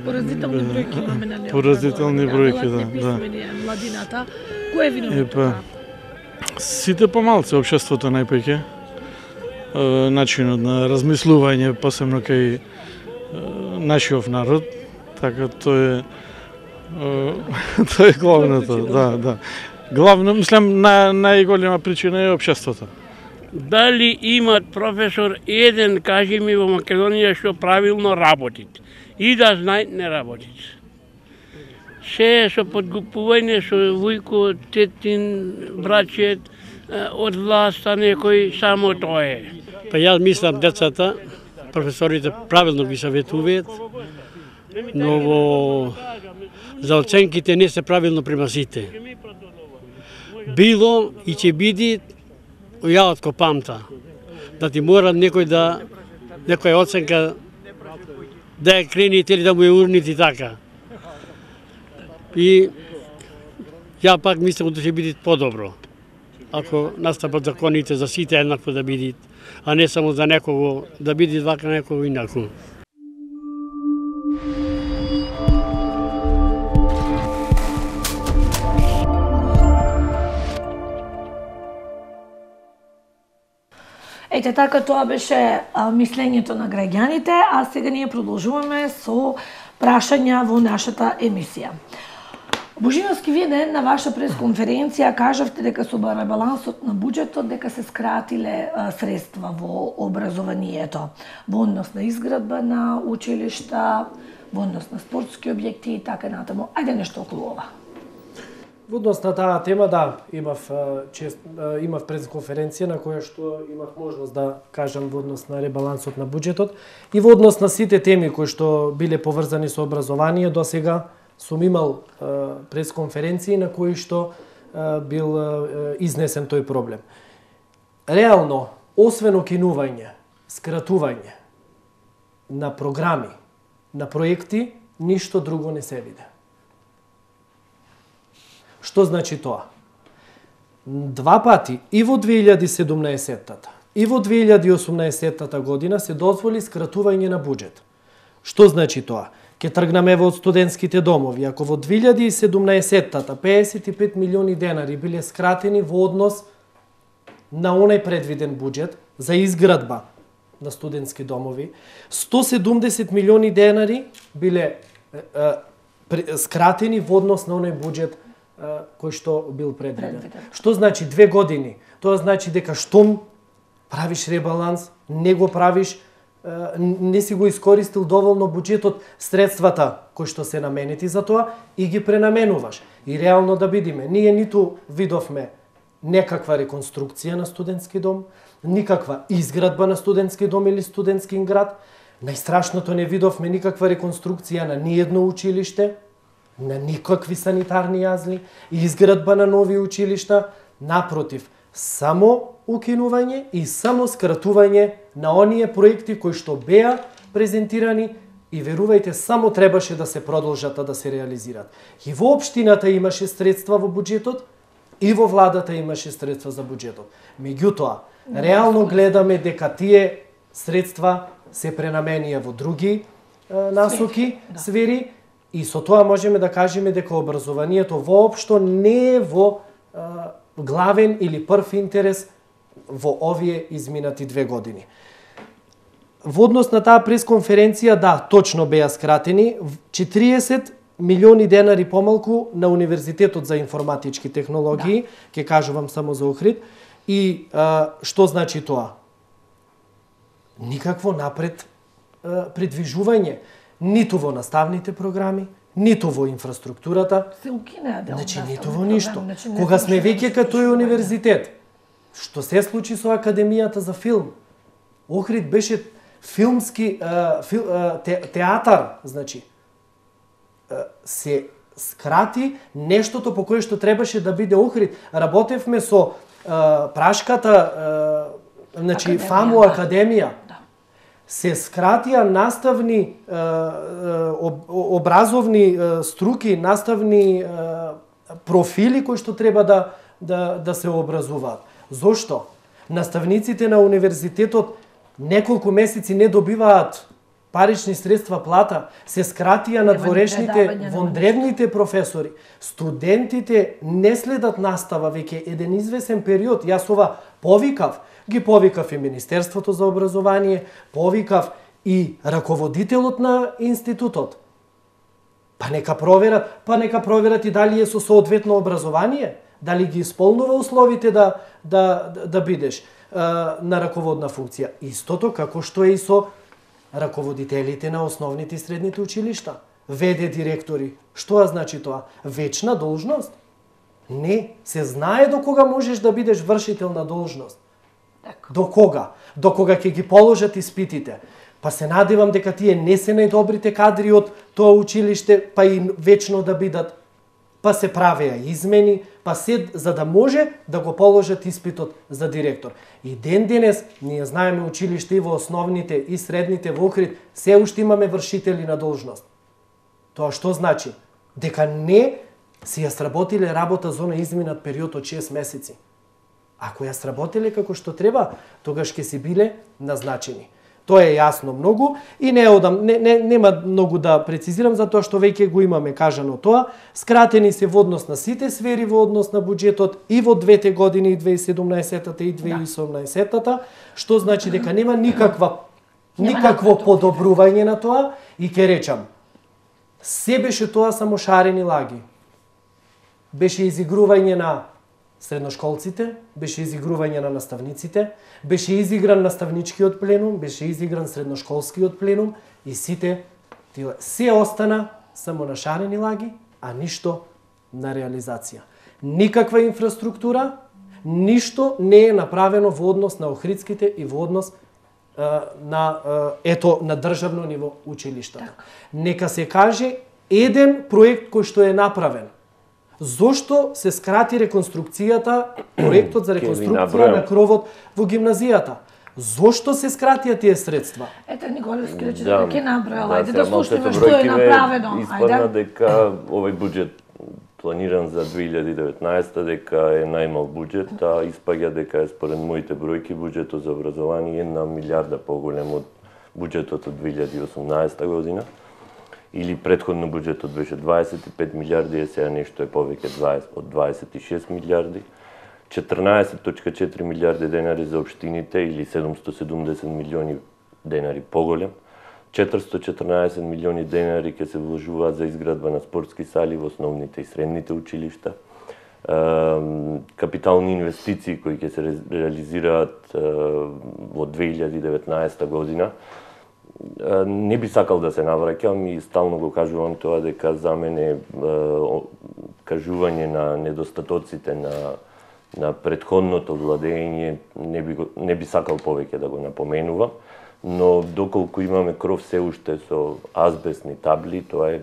Поразителни бројки имаме на неопразование. Поразителни бројки, да. Младината, кој е виновно? Сите помалци, општеството најпоќе, начинот на размислување, посебно кај нашиот народ, така тоа е главното, да. Главно, мислам, најголема причина е општеството. Дали имат професор еден, кажи ми, во Македонија што правилно работит? И да знаат, не работит. Се со подкупување, со вујко, тетин, брачет, од власта некој, само тоа е. Па јас мислам децата, професорите правилно ги саветуваат, но за оценките не се правилно према сите. Било и ќе биде ја од копамта. Да ти мора некоја оценка да ја крените или да му ја урните така. И ја пак мислам да ќе биде подобро. Ако настапат законите за сите еднакво да бидат, а не само за некого да биде вака, некого инако. Ете така, тоа беше мислењето на граѓаните, а сега ние продолжуваме со прашања во нашата емисија. Божиновски, вие на ваша пресконференција кажавте дека со ребалансот на буџетот дека се скратиле средства во образованието, во однос на изградба на училишта, во однос на спортски објекти и така натаму. Ајде нешто околу ова. Во однос на таа тема, да, имав пресконференција на која што имав можност да кажам во однос на ребалансот на буџетот и во однос на сите теми кои што биле поврзани со образование. До сега сум имал пресконференции на кои што бил изнесен тој проблем. Реално, освен окинување, скратување на програми, на проекти, ништо друго не се виде. Што значи тоа? Два пати, и во 2017-та, и во 2018-та година се дозволи скратување на буџет. Што значи тоа? Ке тргнаме во студентските домови. Ако во 2017-та 55 милиони денари биле скратени во однос на онај предвиден буџет за изградба на студентски домови, 170 милиони денари биле скратени во однос на онај буџет кој што бил предвиден. Што значи 2 години? Тоа значи дека штом правиш ребаланс, не го правиш не си го искористил доволно буџетот, средствата кои што се наменети за тоа и ги пренаменуваш. И реално да видиме, ние ниту видовме некаква реконструкција на студентски дом, никаква изградба на студентски дом или студентски град, најстрашното не видовме никаква реконструкција на ниедно училиште, на никакви санитарни јазли, изградба на нови училишта, напротив, само укинување и само скратување на оние проекти кои што беа презентирани и верувајте, само требаше да се продолжат да се реализираат. И во општината имаше средства во буџетот, и во владата имаше средства за буџетот. Меѓутоа, реално гледаме дека тие средства се пренаменија во други насоки, сфери, и со тоа можеме да кажеме дека образованието воопшто не е во главен или прв интерес во овие изминати 2 години. Во однос на таа пресконференција, да, точно беа скратени 40 милиони денари помалку на Универзитетот за информатички технологии, ќе кажувам само за Охрид. И што значи тоа? Никакво напред придвижување, ниту во наставните програми, ниту во инфраструктурата, се укинеа дел. Значи ниту во ништо. Кога сме веќе като тој универзитет, што се случи со Академијата за филм? Охрид беше филмски театар, значи се скрати нештото по кое што требаше да биде Охрид. Работевме со прашката, значи ФАМУ Академија. Се скратија наставни образовни струки, наставни профили кои што треба да се образуваат. Зошто? Наставниците на универзитетот неколку месеци не добиваат парични средства плата, се скратија надворешните вондревните професори. Студентите не следат настава веќе еден извесен период. Јас ова повикав, ги повикав и Министерството за образование, повикав и раководителот на институтот. Па нека проверат и дали е со соодветно образование, дали ги исполнува условите да бидеш на раководна функција. Истото како што е и со раководителите на основните и средните училишта, ВД директори. Што значи тоа? Вечна должност? Не, се знае до кога можеш да бидеш вршител на должност. До кога? До кога ќе ги положат испитите. Па се надевам дека тие не се најдобрите кадри од тоа училиште, па и вечно да бидат. Па се правеа измени, па се за да може да го положат испитот за директор. И ден денес ние знаеме училиште и во основните и средните во Охрид се уште имаме вршители на должност. Тоа што значи? Дека не си ја сработиле работа за оној изминат период од 6 месеци. Ако ја сработиле како што треба, тогаш ќе си биле назначени. Тоа е јасно многу и нема многу да прецизирам за тоа што веќе го имаме кажано тоа. Скратени се во однос на сите сфери во однос на буџетот и во двете години, и 2017-та и 2018-та, што значи дека нема никакво подобрување на тоа и ќе речам, се беше тоа само шарени лаги. Беше изигрување на средношколците, беше изигрување на наставниците, беше изигран наставничкиот пленум, беше изигран средношколскиот пленум и сите се остана само на шарени лаги, а ништо на реализација. Никаква инфраструктура, ништо не е направено во однос на охридските и во однос на државно ниво училишта. Нека се каже еден проект кој што е направен. Зошто се скрати реконструкцијата, проектот за реконструкција на кровот во гимназијата? Зошто се скратија тие средства? Ете, Николевски рече дека ќе набројал, ајде да слушнеме што е направено. Испадна дека овој буџет планиран за 2019 дека е најмал буџет, а испаѓа дека е според моите бројки буџетот за образование 1 милиарда поголем од буџетот од 2018 година. Или предходно буџетот беше 25 милиарди, е сега нешто е повеќе од 26 милиарди. 14.4 милиарди денари за општините или 770 милиони денари поголем. 414 милиони денари ќе се вложуваат за изградба на спортски сали во основните и средните училишта. Капитални инвестиции кои ќе се реализираат во 2019 година не би сакал да се навраќам и стално го кажувам тоа дека за мене кажување на недостатоците на претходното владење не би сакал повеќе да го напоменувам, но доколку имаме кров се уште со азбестни табли, тоа е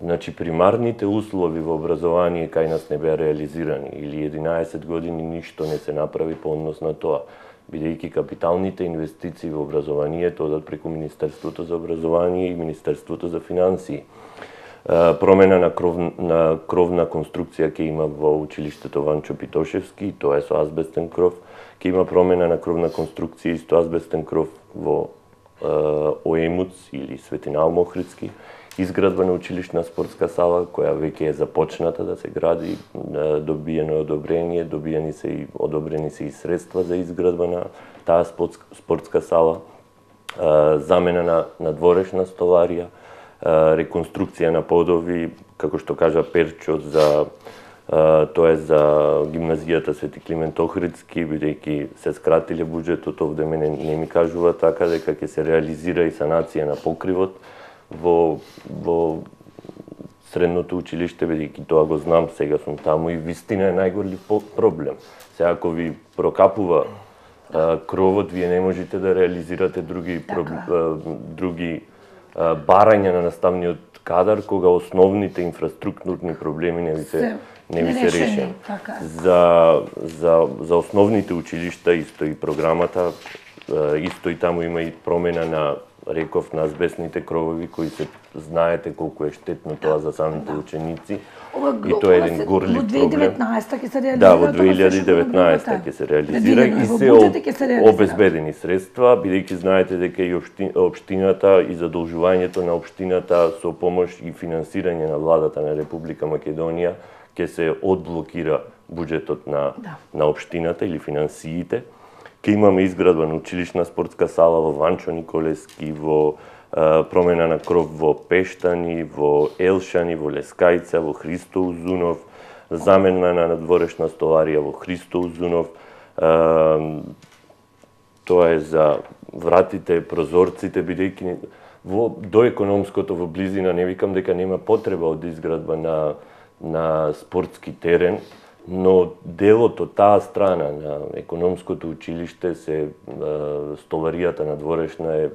значи примарните услови во образование кај нас не беа реализирани или 11 години ништо не се направи по однос на тоа, бидејќи капиталните инвестиции во образованието одат преку Министерството за образование и Министерството за финансии. Промена на кровна конструкција ќе има во училиштето Ванчо Питошевски, тоа е со азбестен кров. Ќе има промена на кровна конструкција и со азбестен кров во ОЕМУЦ или Светина Охридски. Изградба на училишна спортска сала, која веќе е започната да се гради, добиено е одобрение, одобрени се и средства за изградба на таа спортска сала, замена на дворешна столарија, реконструкција на подови, како што кажа Перчо, тоа е за гимназијата Свети Климент Охридски, бидејќи се скратиле буџетот, овде мене не ми кажува така дека ќе се реализира и санација на покривот во средното училиште, бидејќи тоа го знам, сега сум таму и вистина е најголем проблем. Сега ако ви прокапува кровот, вие не можете да реализирате други барања на наставниот кадар, кога основните инфраструктурни проблеми не ви се решени. За основните училишта исто и програмата, исто и таму има и промена на реков на азбестните кровови, кои се знаете колку е штетно тоа за самите ученици. И тоа е еден горлив проблем. Во 2019 ќе се реализира. Да, во 2019 ќе се реализира и се обезбедени средства, бидејќи знаете дека и општината и задолжувањето на општината со помош и финансирање на владата на Република Македонија ќе се одблокира буџетот на општината или финансиите. Ќе имаме изградба на училишна спортска сала во Ванчо Николевски, во промена на кров во Пештани, во Елшани, во Лескајца, во Христо Узунов, замена на надворешна столарија во Христо Узунов. Тоа е за вратите, прозорците, бидејќи до економското во близина не викам дека нема потреба од изградба на спортски терен, но делот од таа страна на економското училиште се столаријата на дворешна е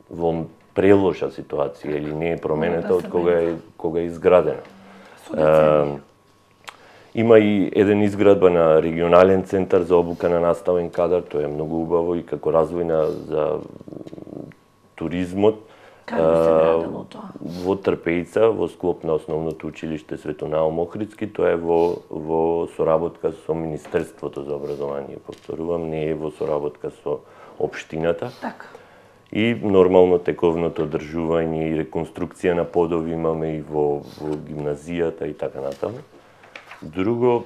во прелоша ситуација или не е променета од кога е изградена. Има и еден изградба на регионален центар за обука на наставен кадар, тоа е многу убаво и како развојна за туризмот. Во Трпејца, во склоп на основното училиште Свето Наум Охридски, тоа е во соработка со Министерството за образование, повторувам, не е во соработка со општината. И нормално тековното одржување и реконструкција на подови имаме и во гимназијата и така натаму. Друго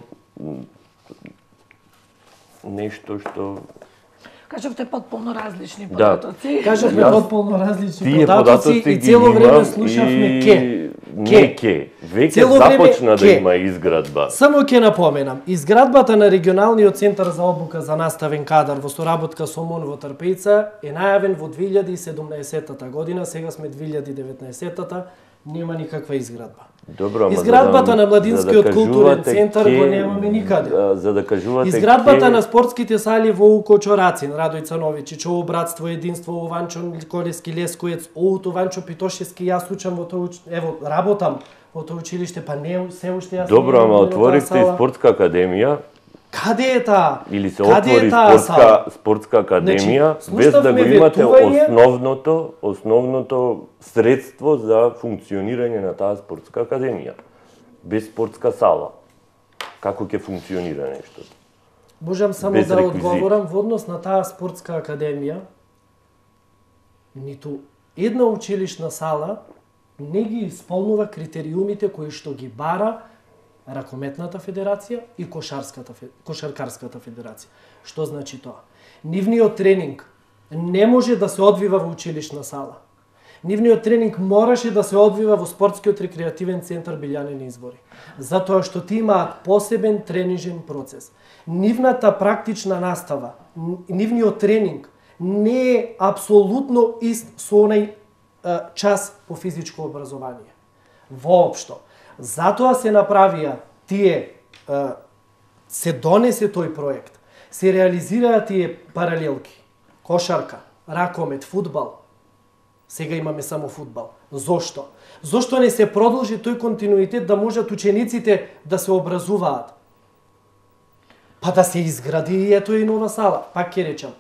нешто што Кажавте потполно различни податоци. Кажавме потполно различни податоци и цело време слушавме ке. Веќе започна да има изградба. Само ќе напоменам, изградбата на регионалниот центар за обука за наставен кадар во соработка со МОН во Трпејца е најавен во 2017 година, сега сме 2019-та, нема никаква изградба. Добро, изградбата на Младинскиот културен центар го немаме никаде. За да кажувате изградбата на спортските сали во УКО Чорацин, Радој Цановиќич, ОУ Братство, Единство, ОУ Ванчо Николевски, Лескоец, ОУ Ванчо Питошевски, јас учам во тоа, работам во тоа училиште, па не се уште јас. Добро, ама отворивте и спортска академија. Каде е таа? Или се отвори спортска академија, без да го имате основното средство за функционирање на таа спортска академија. Без спортска сала. Како ќе функционира нешто? Можам само да одговорам во однос на таа спортска академија. Ниту една училишна сала не ги исполнува критериумите кои што ги бара Ракометната федерација и Кошаркарската федерација. Што значи тоа? Нивниот тренинг не може да се одвива во училишна сала. Нивниот тренинг мораше да се одвива во спортскиот рекреативен центар Билјанени Избори. Затоа што ти имаат посебен тренижен процес. Нивната практична настава, нивниот тренинг не е апсолутно ист со онај час по физичко образование. Воопшто. Затоа се направија тие, се донесе тој проект, се реализираа тие паралелки. Кошарка, ракомет, фудбал. Сега имаме само фудбал. Зошто? Зошто не се продолжи тој континуитет да можат учениците да се образуваат? Па да се изгради и ето и нова сала. Пак ќе речам.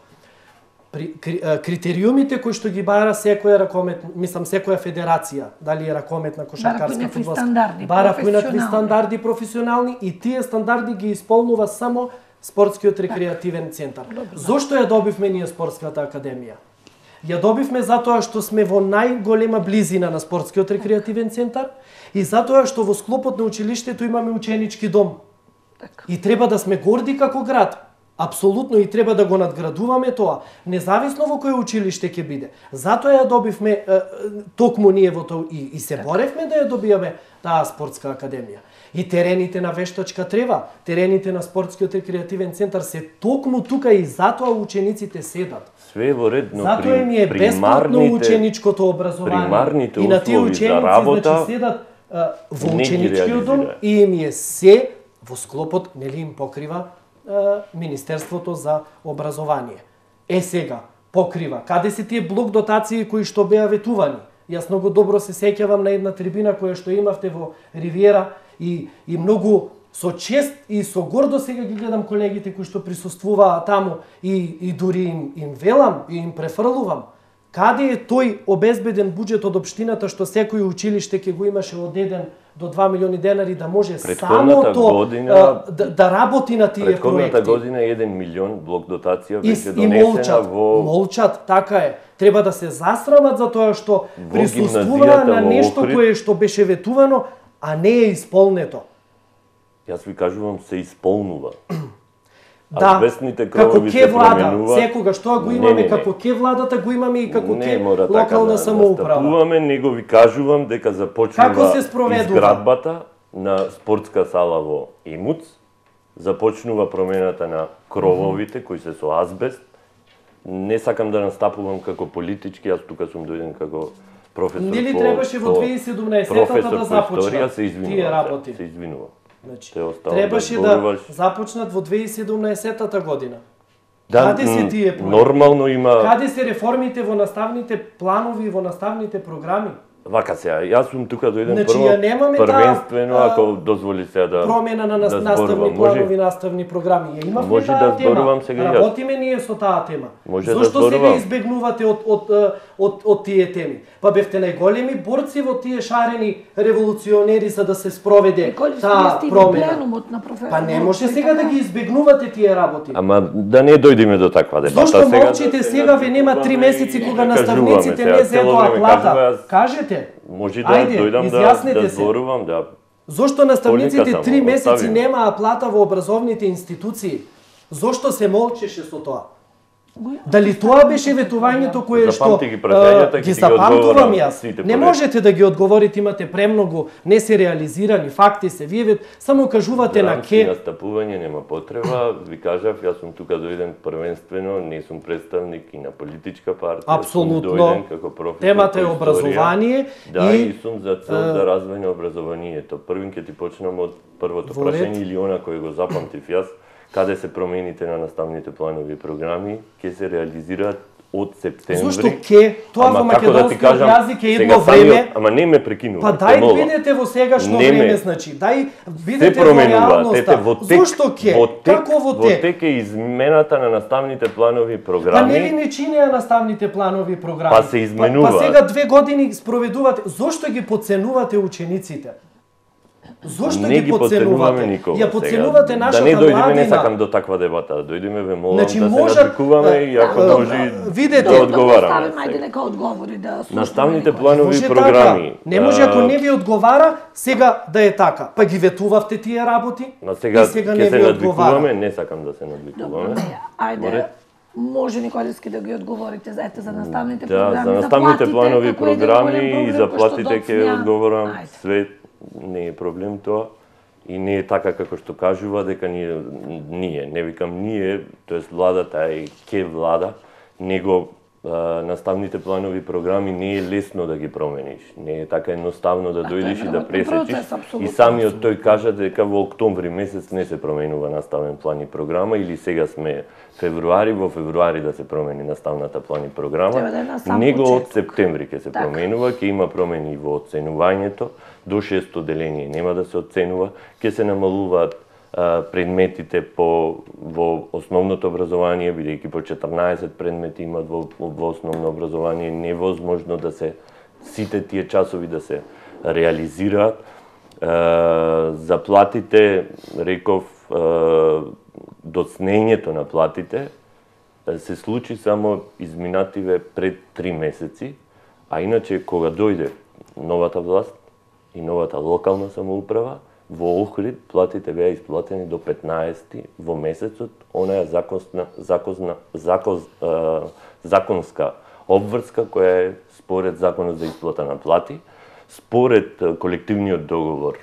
Критериумите кои што ги бара секоја ракомет, секоја федерација, дали е ракометна, кошаркарска, фудбалска, бара поинакви стандарди професионални и тие стандарди ги исполнува само спортскиот рекреативен центар. Зошто ја добивме ние спортската академија? Ја добивме затоа што сме во најголема близина на спортскиот рекреативен центар и затоа што во склопот на училиштето имаме ученички дом. И треба да сме горди како град. Апсолутно и треба да го надградуваме тоа, независно во кој училиште ќе биде. Затоа ја добивме токму ние во тоа и се боревме да ја добиеме таа спортска академија. И терените на вештачка трева, терените на спортскиот рекреативен центар се токму тука и затоа учениците седат. Све во ред, но затоа им е бесплатно ученичкото образование. И на тие ученици значи седат во ученичкиот дом и им е се во склопот, нели им покрива Министерството за образование. Сега, покрива. Каде се тие блок дотации кои што беа ветувани? Јас многу добро се сеќавам на една трибина која што имавте во Ривиера и многу со чест и со гордо сега ги гледам колегите кои што присуствуваа таму и дури им велам и им префрлувам. Каде е тој обезбеден буџет од општината што секој училиште ќе го имаше од 1 до 2 милиони денари да може само да работи на тие проекти? Претходната година 1 милион блок дотација беше донесена во... Молчат, така е. Треба да се засрамат за тоа што присуствуваа на нешто кое што беше ветувано, а не е исполнето. Јас ви кажувам, се исполнува. Да, како ке влада, секогаш тоа го имаме, како ке владата го имаме и како ке локална самоуправа. Настапуваме, него ви кажувам дека започнува изградбата на спортска сала во Имуц, започнува промената на крововите кои се со азбест. Не сакам да настапувам како политички, јас тука сум дојден како професор. Нели требаше во 2017-та да започнат тие работи? Се извинувам. Значи, требаше да започнат во 2017 година. Да, каде се тие проекти? Нормално има... Каде се реформите во наставните планови и во наставните програми? Вака сега, јас сум тука дојден прво, првенствено, ако дозволи сега да промена на наставни планови, наставни програми. Ја имавме таа тема. Работиме ние со таа тема. Зошто сега избегнувате од тие теми? Па бевте најголеми борци во тие шарени револуционери за да се спроведе таа промена. Па не може сега да ги избегнувате тие работи. Ама да не дојдеме до таква дебата. Зошто молчите сега, ве нема 3 месеци кога наставниците не зедоа плата? Кажете. Може да дојдам да зборувам, да. Зошто наставниците 3 месеци немаа плата во образовните институции? Зошто се молчеше со тоа? Дали тоа беше ветувањето кое што ги запамтувам јас? Не можете да ги одговорите, имате премногу, не се реализирани, факти се. Вие само кажувате на ке. Настапување нема потреба, ви кажав, јас сум тука дојден првенствено, не сум представник и на политичка партија. Апсолутно. Темата е образование и сум за цел да развојне образованието. Првин ќе ти почнам од првото прашање или она кој го запамтив јас. Каде се промените на наставните планови и програми, ќе се реализираат од септември. Зошто ке? Тоа во македонскиот јазик е едно време. Ама не ме прекинувате. Па дај бидете во сегашно време, значи. Дај бидете во реалноста. Зошто ке? Како во тек? Во тек е измената на наставните планови и програми. Па нели не чинеа наставните планови и програми? Па се изменува. Па сега 2 години спроведувате. Зошто ги подценувате учениците? Зошто ги подценувате? Ја подценувате нашата младина. Да не дојдеме, не сакам до таква дебата, да дојдеме ве молам да се надвикуваме и ако може да одговараме. Ајде нека одговори да слушаме. Наставните планови и програми. Не може ако не ви одговара, сега да е така. Па ги ветувавте тие работи и сега не ви одговара. Не сакам да се надвикуваме. Ајде. Може Николевски да ги одговорите за наставните програми, за наставните планови и програми и заплатите ќе одговорам све. Не е проблем тоа и не е така како што кажува дека ние, не викам ние, тоест владата е ке влада, него наставните планови програми не е лесно да ги промениш. Не е така едноставно да дојдеш и да пресечиш. И самиот тој кажа дека во октомври месец не се променува наставен план и програма, или сега сме февруари, во февруари да се промени наставната план и програма. Него од септември ќе се променува, ќе има промени во оценувањето, до 6-то деление нема да се оценува, ќе се намалуваат предметите во основното образование, бидејќи по 14 предмети имат во основно образование, невозможно да се сите тие часови да се реализираат. Заплатите, реков, доцнењето на платите се случи само изминативе пред 3 месеци, а иначе кога дојде новата власт и новата локална самоуправа, во Охрид платите беа исплатени до 15 во месецот, онаа законска обврска која е според законот за исплата на плати, според колективниот договор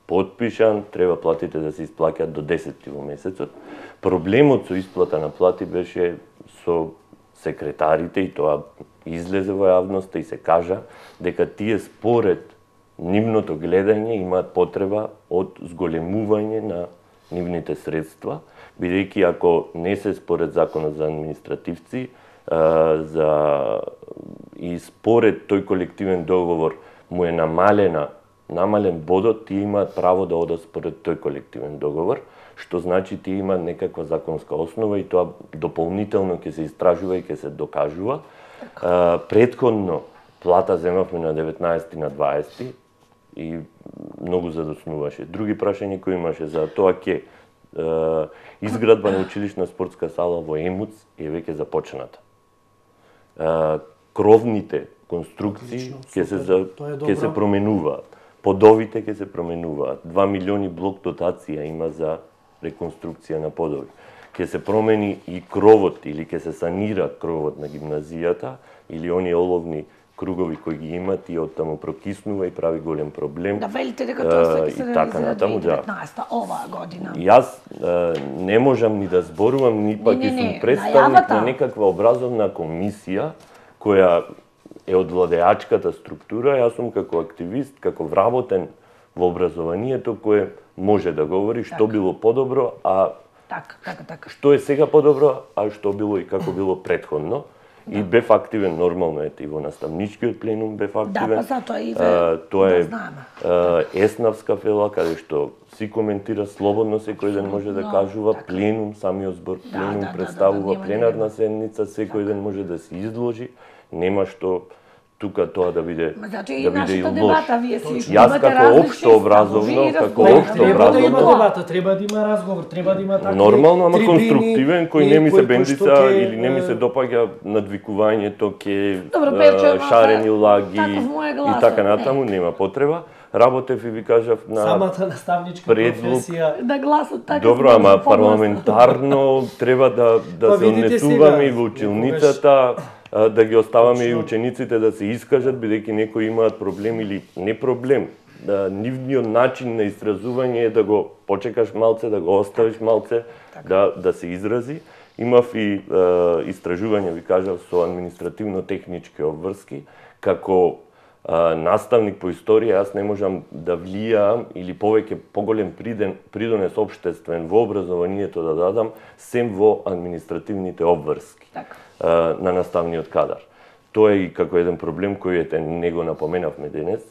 подпишан, треба платите да се исплаќаат до 10 во месецот. Проблемот со исплата на плати беше со секретарите, и тоа излезе во јавноста и се кажа дека тие според нивното гледање имаат потреба од зголемување на нивните средства, бидејќи ако не се според законот за административци и според тој колективен договор му е намален бодот, тие имаат право да одат според тој колективен договор, што значи тие имаат некаква законска основа и тоа дополнително ќе се истражува и ќе се докажува. Претходно плата земавме на 19 на 20 и многу задоснуваше. Други прашања кои имаше за тоа ќе изградба на училишна спортска сала во Емуц е веќе започната. Кровните конструкции ќе се променуваат. Подовите ќе се променуваат. 2 милиони блок дотација има за реконструкција на подови. Ќе се промени и кровот или ќе се санира кровот на гимназијата или оние оловни кругови кои ги имат и оттаму прокиснува и прави голем проблем. Да велите дека тоа се ќе се реализира 2019 оваа година. Јас не можам ни да зборувам, ни пак и сум представник на некаква образовна комисија која е од владеачката структура. Јас сум како активист, како вработен во образованието кој може да говори што било подобро, а што е сега подобро, а што било и како било претходно. И бев активен нормално и во наставничкиот пленум бев активен. Тоа е еснавска фела каде што си коментира слободно, секој ден може да кажува, пленум, самиот збор пленум представува пленарна седница, секој ден може да се изложи, нема што тука тоа да биде и лош. Јас како општо образовно, треба да има дебата, треба да има разговор, треба да има такви нормално, ама конструктивен, кој не ми се бендица или не ми се допаѓа надвикувањето ке шарени лаги и така натаму, нема потреба. Работев и ви кажав на самата наставничка професија. Да гласот така. Добро, ама парламентарно треба да се однесуваме и во училницата, да ги оставаме и учениците да се искажат, бидејќи некои имаат проблем или не проблем. Нивниот начин на изразување е да го почекаш малце, да го оставиш малце, да се изрази. Имав и истражување, ви кажав, со административно-технички обврски, како наставник по историја, јас не можам да влијам или поголем придонес општествен во образованието да дадам, сем во административните обврски на наставниот кадар. Тоа е и како еден проблем кој не го напоменавме денес.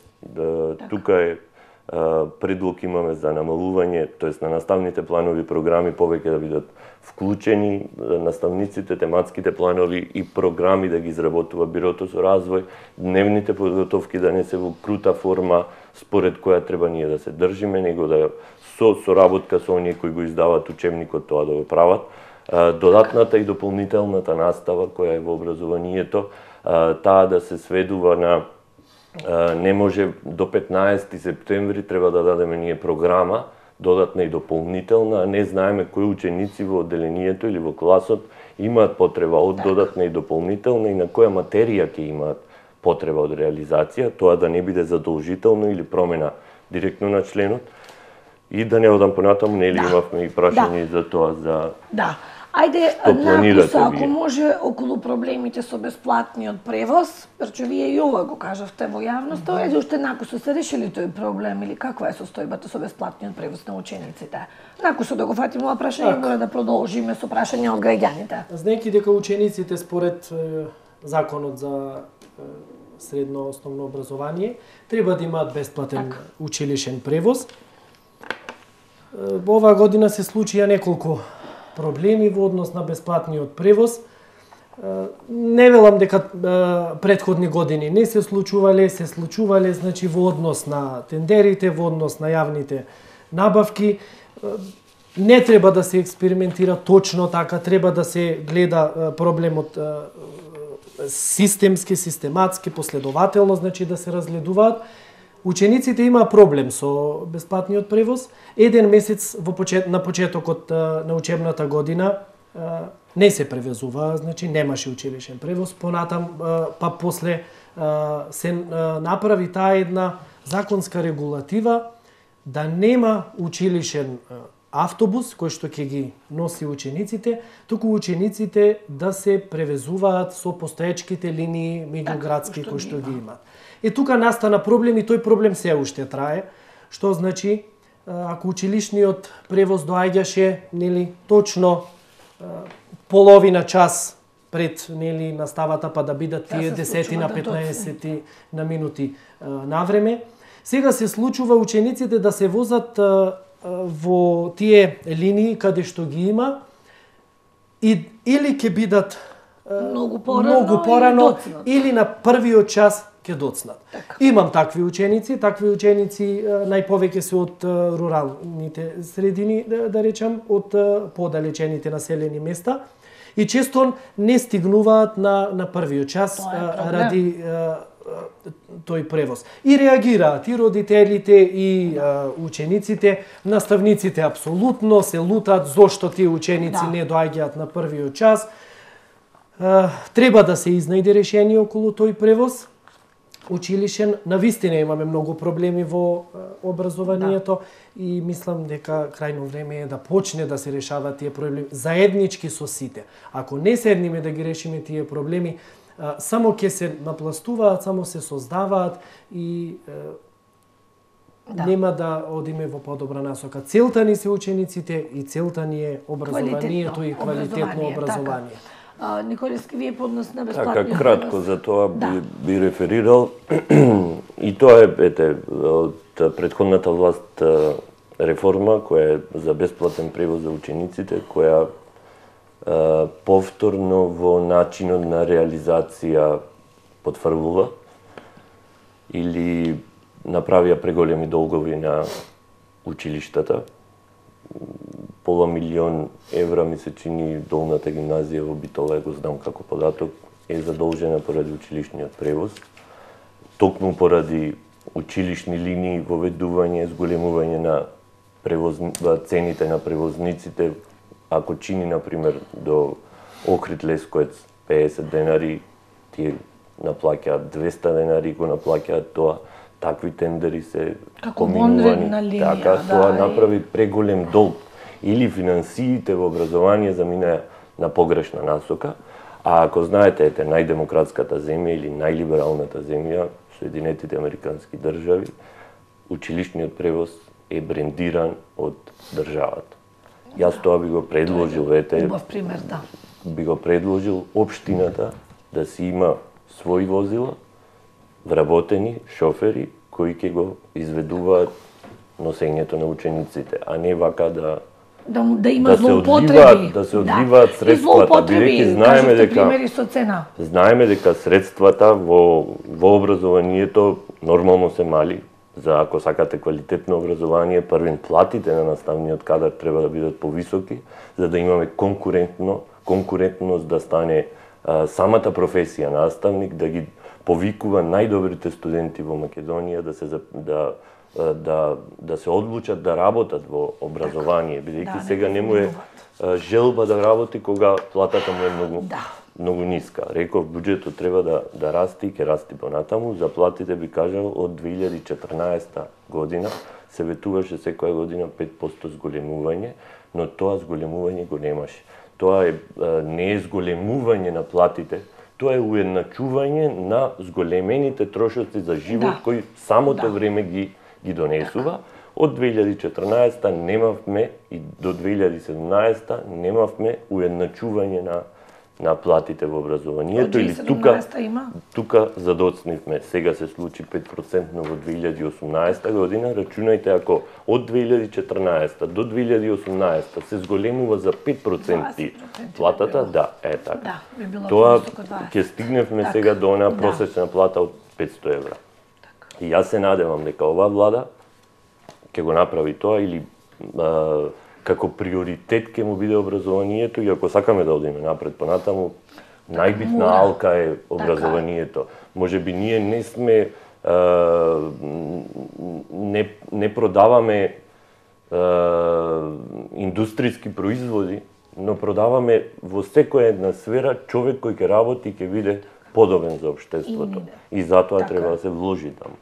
Тука е предлог имаме за намалување, тоест на наставните планови програми повеќе да бидат вклучени наставниците, тематските планови и програми да ги изработува Бирото со развој, дневните подготовки да не се во крута форма според која треба ние да се држиме, него да со соработка со оние кои го издаваат учебникот тоа да го прават. Додатната и дополнителната настава која е во образованието, таа да се сведува на не може до 15 септември треба да дадеме ние програма, додатна и дополнителна, а не знаеме кои ученици во одделението или во класот имаат потреба од додатна и дополнителна и на која материја ќе имаат потреба од реализација, тоа да не биде задолжително или промена директно на членот. И да не одам понатаму, нели имавме и прашање за тоа за... Да, Ајде, што планирате ако вие? може, околу проблемите со бесплатниот превоз, пречу вие и ова го кажавте во јавноста, ајде уште накусо се решили тој проблем или каква е состојбата со бесплатниот превоз на учениците? Накусо да го фатиме ова прашање, мора да продолжиме со прашања од граѓаните. Знаеки дека учениците според законот за средно основно образование треба да имаат бесплатен училишен превоз. Во оваа година се случија неколку проблеми во однос на бесплатниот превоз. Не велам дека претходни години не се случувале, значи во однос на тендерите, во однос на јавните набавки. Не треба да се експериментира точно така, треба да се гледа проблемот системски, систематски, последователно, значи да се разгледуваат. Учениците имаа проблем со бесплатниот превоз. Еден месец на почетокот на учебната година не се превезуваа, значи немаше училишен превоз. Понатам, па после се направи таа една законска регулатива да нема училишен автобус кој што ќе ги носи учениците, туку учениците да се превезуваат со постоечките линии меѓуградски кои што ги имаат. И тука настана проблем и тој проблем се уште трае, што значи ако училишниот превоз доаѓаше нели точно половина час пред нели наставата па да бидат тие 10 на 15 на минути на време, сега се случува учениците да се возат во тие линии каде што ги има и или ќе бидат многу порано или на првиот час ќе доцнат. Имам такви ученици најповеќе се од руралните средини, да речам, од подалечените населени места и често не стигнуваат на првиот час ради тој превоз. И реагираат и родителите, и учениците, наставниците апсолутно се лутат зошто тие ученици не доаѓаат на првиот час. Треба да се изнајде решение околу тој превоз училишен. Навистина имаме многу проблеми во образованието и мислам дека крајно време е да почне да се решаваат тие проблеми заеднички со сите. Ако не седниме да ги решиме тие проблеми, само ќе се напластуваат, само се создаваат и нема да одиме во подобра насока. Целта ни се учениците и целта ни е образованието и квалитетно образование. Николевски, вие поднос на бесплатниот Така, кратко за тоа би реферирал. И тоа е од претходната власт реформа која е за бесплатен превоз за учениците, која повторно во начинот на реализација потврдува или направија преголеми долгови на училиштата. Пола милион евра ми се чини долната гимназија во Битоле, го знам како податок, е задолжена поради училишниот превоз. Токму поради училишни линии, воведување, зголемување на цените на превозниците. Ако чини, например, до Охрид Лесковец 50 денари, тие наплаќаат 200 денари, го наплаќаат тоа. Такви тендери се поминувани. Така, тоа направи преголем долг. Или финансиите во образование заминаја на погрешна насока, а ако знаете, најдемократската земја или најлибералната земја, Соединетите Американски држави, училишниот превоз е брендиран од државата. Јас тоа би го предложил, убав пример, би го предложил општината да си има свои возила, вработени шофери кои ќе го изведуваат носењето на учениците, а не вака да има злоупотреби, да се одливаат средствата, бидејќи знаеме дека средствата во образованието нормално се мали. За ако сакате квалитетно образование, првен платите на наставниот кадар треба да бидат повисоки, за да имаме конкурентност да стане самата професија наставник, да ги повикува најдобрите студенти во Македонија да се одлучат да работат во образование, бидејќи сега не му е желба да работи кога платата му е многу ниска. Реков, буџетот треба да расти и ќе расти понатаму. За платите би кажал од 2014 година се ветуваше секоја година 5% зголемување, но тоа зголемување го немаше. Тоа не е зголемување на платите, тоа е уедначување на зголемените трошоци за живот кои самото време ги донесува. Од 2014 немавме и до 2017 немавме уедначување на платите во образованието или тука задоцнивме. Сега се случи 5% во 2018 година. Рачунајте ако од 2014 до 2018 се зголемува за 5% платата, така. Тоа ќе стигневме сега до онаа просечна плата од 500 евра. И јас се надевам дека оваа влада ќе го направи тоа или како приоритет ќе му биде образованието и ако сакаме да одиме напред понатаму, најбитна алка е образованието. Може би ние не сме не продаваме индустријски производи, но продаваме во секоја една сфера човек кој ќе работи и ќе биде подобен за општеството. И затоа треба да се вложи таму.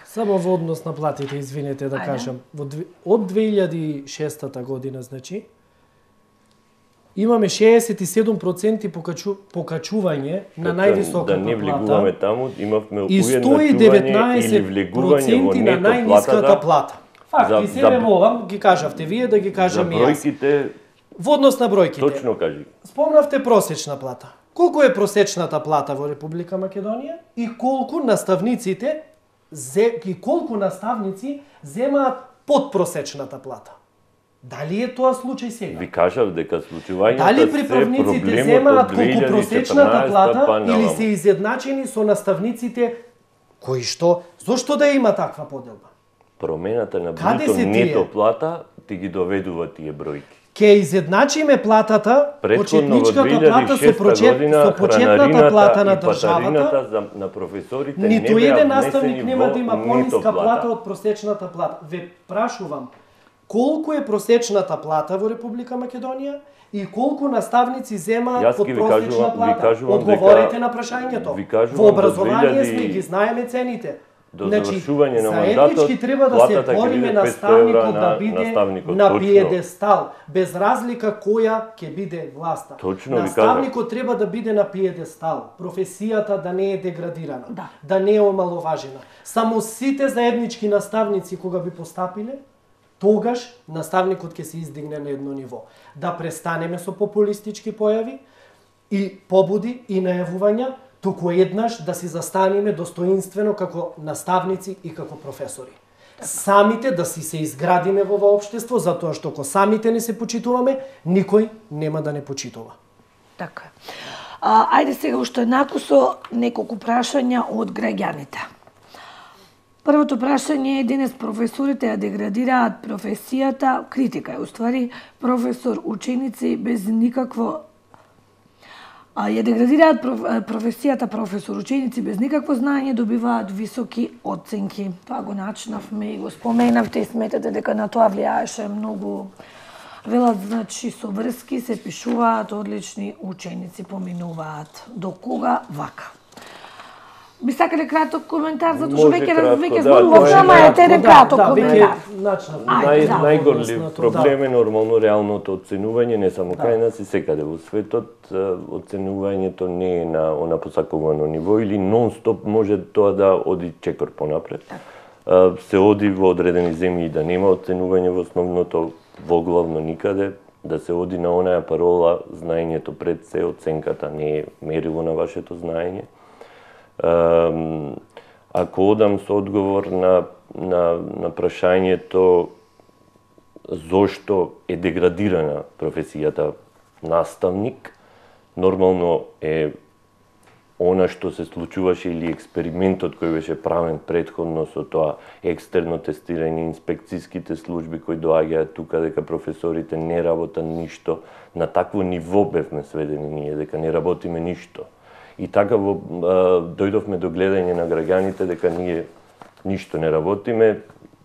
Само во однос на платите, извинете да кажам, од 2006 година, значи, имаме 67% покачување на највисоката плата. Да не влегуваме таму, имавме уедначување или влегување во на најниската плата. Факт, и себе молам, ги кажавте вие, да ги кажам и јас. За бројките... Во однос на бројките. Точно кажи. Спомнавте просечна плата. Колку е просечната плата во Република Македонија и колку наставниците и колку наставници земаат подпросечната плата? Дали е тоа случај сега? Ви кажав дека случувањето дали приправниците земаат колку просечната плата или се изедначени со наставниците кои што? Зошто да има таква поделба? Промената на бруто нето плата ти ги доведува тие бројки. Ке изедначиме платата, почетничката плата со почетната плата на државата, на професорите ниту еден наставник нема да има пониска плата од просечната плата. Ве прашувам, колку е просечната плата во Република Македонија и колку наставници земаат под просечна плата? Одговорете на прашањето. Во образование сме ги знаеме цените. До завршување на мандатот, треба да се бориме наставникот да биде на пиедестал, без разлика која ќе биде власта. Наставникот треба да биде на пиедестал, професијата да не е деградирана, да не е омаловажена. Само сите заеднички наставници кога би постапиле, тогаш наставникот ќе се издигне на едно ниво. Да престанеме со популистички појави и побуди и најавувања, туку еднаш да си застанеме достоинствено како наставници и како професори. Самите да си се изградиме во ова општество, затоа што ако самите не се почитуваме, никој нема да не почитува. Така. Ајде сега уште еднакво со неколку прашања од граѓаните. Првото прашање е: денес професорите ја деградираат професијата, критика е уствари, професор, ученици без никакво ја деградираат професијата професор, ученици без никакво знаење добиваат високи оценки. Тоа го начинавме и го споменавте и сметате дека на тоа влијаеше многу. Велат, значи, со врски се пишуваат, одлични ученици поминуваат. До кога вака? Би сакале краток коментар, затоа што веќе зборувавме, ама е краток коментар. Најголем проблем е нормално реалното оценување, не само кај нас и секаде во светот. Оценувањето не е на она посакувано ниво или нон-стоп може тоа да оди чекор понапред. Се оди во одредени земји да нема оценување во основното, во главно никаде, да се оди на онаа парола знаењето пред се, оценката не е мерило на вашето знаење. Ако одам со одговор на прашањето зошто е деградирана професијата наставник, нормално е она што се случуваше или експериментот кој беше правен претходно со тоа екстерно тестирање, инспекцијските служби кои доаѓаат тука дека професорите не работат ништо, на такво ниво бевме сведени ние дека не работиме ништо. И така дојдовме до гледање на граѓаните дека ние ништо не работиме,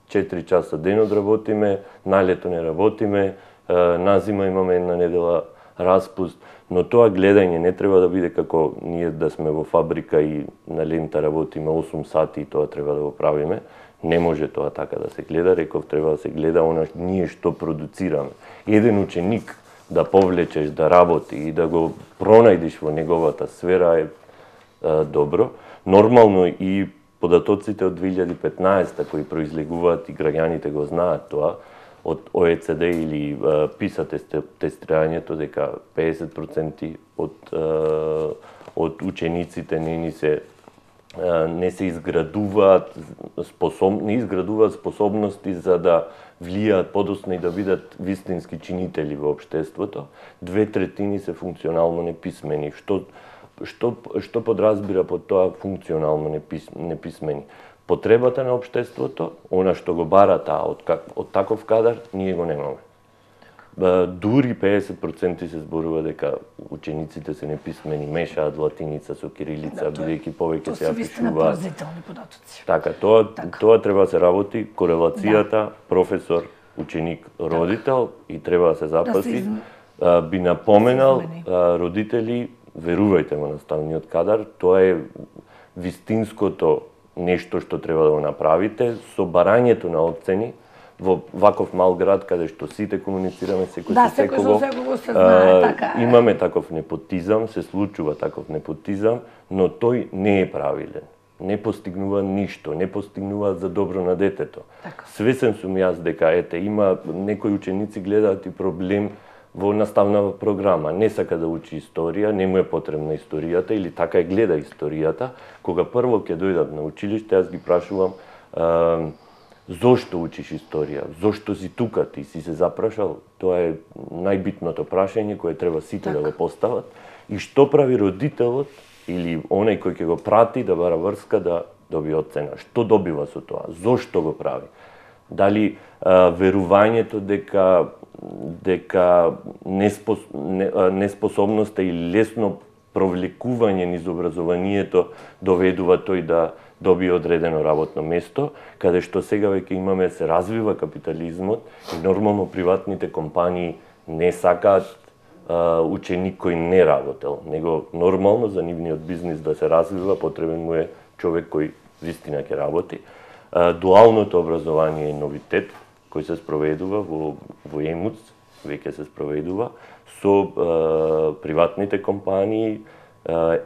4 часа денот работиме, на лето не работиме, на зима имаме една недела распуст, но тоа гледање не треба да биде како ние да сме во фабрика и на лента работиме 8 сати и тоа треба да го правиме. Не може тоа така да се гледа, реков треба да се гледа она ние што продуцираме. Еден ученик да повлечеш, да работи и да го пронајдеш во неговата сфера е добро. Нормално и податоците од 2015 кои произлегуваат и граѓаните го знаат тоа, од ОЕЦД или ПИСА тестирањето дека 50% од учениците не се изградуваат способности за да влијаат подоцна и да бидат вистински чинители во општеството. 2/3 се функционално неписмени. Што подразбира под тоа функционално неписмени? Потребата на општеството, она што го бара таа од таков кадар, ние го немаме. Дури 50% се зборува дека учениците се неписмени, мешаат латиница со кирилица, бидејќи повеќе се апишуваат. Така, тоа треба да се работи, корелацијата, професор, ученик, родител и треба да се запаси. Би напоменал родители, верувајте во наставниот кадар, тоа е вистинското нешто што треба да го направите со барањето на оцени во ваков мал град каде што сите комуницираме секој со секого. Се знае, така е. Имаме таков непотизам, се случува таков непотизам, но тој не е правилен. Не постигнува ништо, не постигнува за добро на детето. Свесен сум јас дека има некои ученици гледаат и проблем во наставна програма. Не сака да учи историја, не му е потребна историјата или така гледа историјата. Кога прво ќе дојдат на училиште, јас ги прашувам зошто учиш историја? Зошто си тука ти? Си се запрашал? Тоа е најбитното прашање кое треба сите да го постават. И што прави родителот или оној кој ќе го прати да бара врска да доби оцена? Што добива со тоа? Зошто го прави? Дали верувањето дека неспособноста и лесно провлекување низ образованието доведува тој да добие одредено работно место, каде што сега веќе имаме се развива капитализмот и нормално приватните компании не сакаат ученик кој не работел, него нормално за нивниот бизнис да се развива потребен му е човек кој вистина ќе работи. Дуалното образование е новитет кој се спроведува во ЕМУЦ, веќе се спроведува со приватните компании.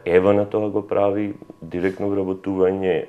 Ева на тоа го прави директно вработување,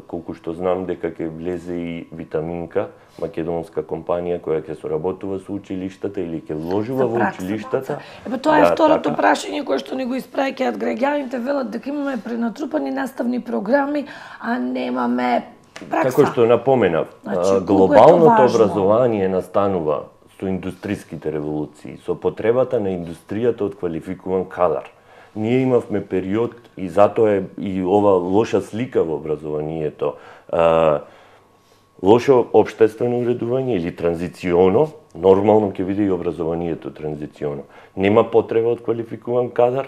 колку што знам дека ќе влезе и Витаминка, македонска компанија која ќе соработува со училиштата или ќе вложува во училиштата. Тоа е второто прашање кое што ни го испраќаат граѓаните, велат дека имаме пренатрупани наставни програми, а немаме пракса. Како што напоменав, глобалното образование настанува со индустриските револуции, со потребата на индустријата од квалификуван кадар. Ние имавме период и затоа е и ова лоша слика во образованието. Лошо општествено уредување или транзиционо, нормално ќе биде и образованието транзиционо. Нема потреба од квалификуван кадар,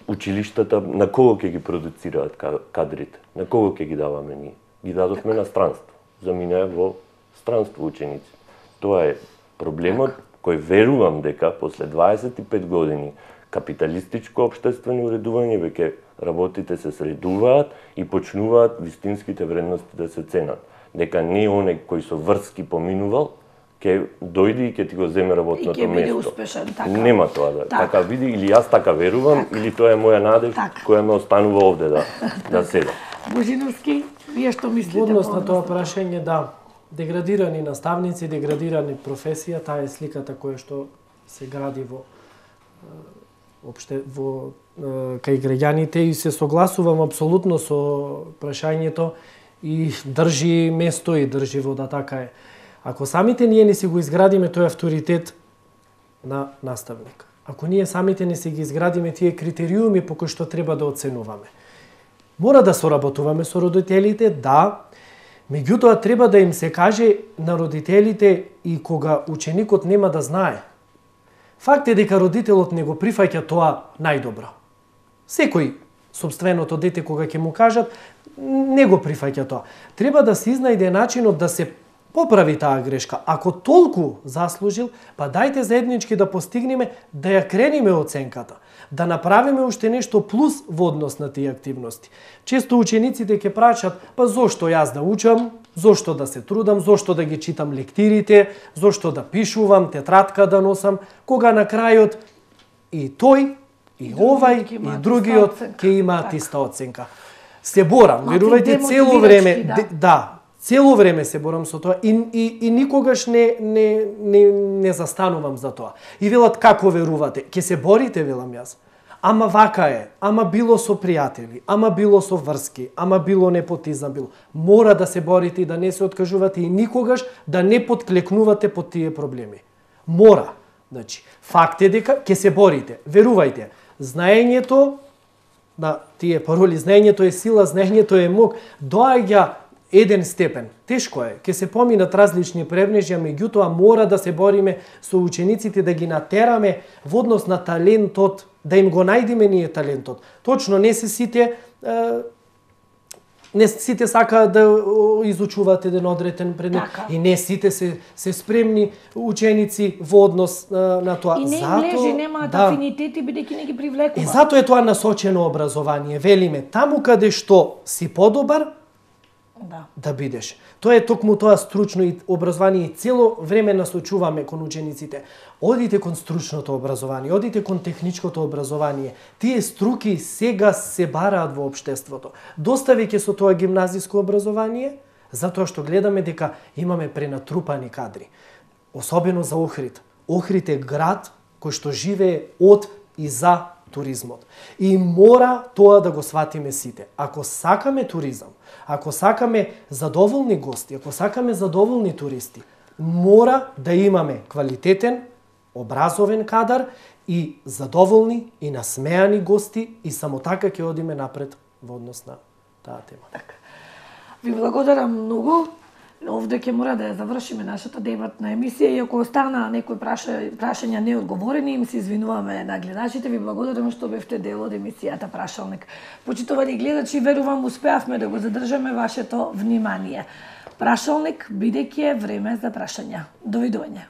училиштата на кого ќе ги продуцираат кадрите? На кого ќе ги даваме ние? Ги дадовме на странство. Заминаа во странство ученици. Тоа е проблемот кој верувам дека после 25 години капиталистичко општествено уредување веќе работите се средуваат и почнуваат вистинските вредности да се ценат. Дека не оној кој со врски поминувал ќе дојде и ќе ти го земе работното место. И ќе биде успешен, така. Нема тоа да така биде, или јас така верувам, или тоа е моја надеж која ме останува овде да седам. Божиновски, вие што мислите? Однос на тоа прашање, да, деградирани наставници, деградирани професија, таа е сликата која што се гради во кај граѓаните и се согласувам апсолутно со прашањето и држи место и држи вода, така е. Ако самите ние не си го изградиме тој авторитет на наставник, ако ние самите не си ги изградиме тие критериуми по кои што треба да оценуваме, мора да соработуваме со родителите, да, меѓутоа треба да им се каже на родителите и кога ученикот нема да знае. Факт е дека родителот не го прифаќа тоа најдобро. Секој сопственото дете кога ќе му кажат, не го прифаќа тоа. Треба да се изнајде начинот да се поправи таа грешка. Ако толку заслужил, па дајте заеднички да постигнеме да ја крениме оценката, да направиме уште нешто плюс во однос на тие активности. Често учениците ќе прашаат, па зошто јас да учам, Зошто да се трудам, зошто да ги читам лектирите, зошто да пишувам, тетрадка да носам, кога на крајот и тој, и овај, и другиот ќе имаат иста оценка. Се борам, верувајте, цело време, цело време се борам со тоа и никогаш не застанувам за тоа. И велат како верувате? Ќе се борите, велам јас. Ама вака е, ама било со пријатели, ама било со врски, ама било непотизам, било. Мора да се борите и да не се откажувате и никогаш да не подклекнувате под тие проблеми. Мора. Значи, факт е дека ќе се борите. Верувајте, знаењето на тие пароли, знаењето е сила, знаењето е мок, доаѓа еден степен. Тешко е, ќе се поминат различни превнежја, меѓутоа мора да се бориме со учениците, да ги натераме во однос на талентот, да им го најдеме ние талентот. Точно, не сите сакаат да изучуваат еден одреден предмет и не сите се спремни ученици во однос на тоа. И не им лежи, немаат афинитети, бидејќи не ги привлекува. И затоа е тоа насочено образование. Велиме, таму каде што си подобар, да бидеш. Тоа е токму тоа стручно и образование и цело време насочуваме кон учениците. Одите кон стручното образование, одите кон техничкото образование. Тие струки сега се бараат во општеството. Доставиќе со тоа гимназиско образование, затоа што гледаме дека имаме пренатрупани кадри. Особено за Охрид. Охрид е град кој што живее од и за туризмот. И мора тоа да го сватиме сите. Ако сакаме туризам, ако сакаме задоволни гости, ако сакаме задоволни туристи, мора да имаме квалитетен, образовен кадар и задоволни и насмеани гости и само така ќе одиме напред во однос на таа тема. Така. Ви благодарам многу. Овде ќе мора да ја завршиме нашата дебатна емисија и ако остана некои прашања неодговорени, им се извинуваме на гледачите. Ви благодарам што бевте дел од емисијата Прашалник. Почитувани гледачи, верувам успеавме да го задржаме вашето внимание. Прашалник, бидејќи е време за прашања. Довидување.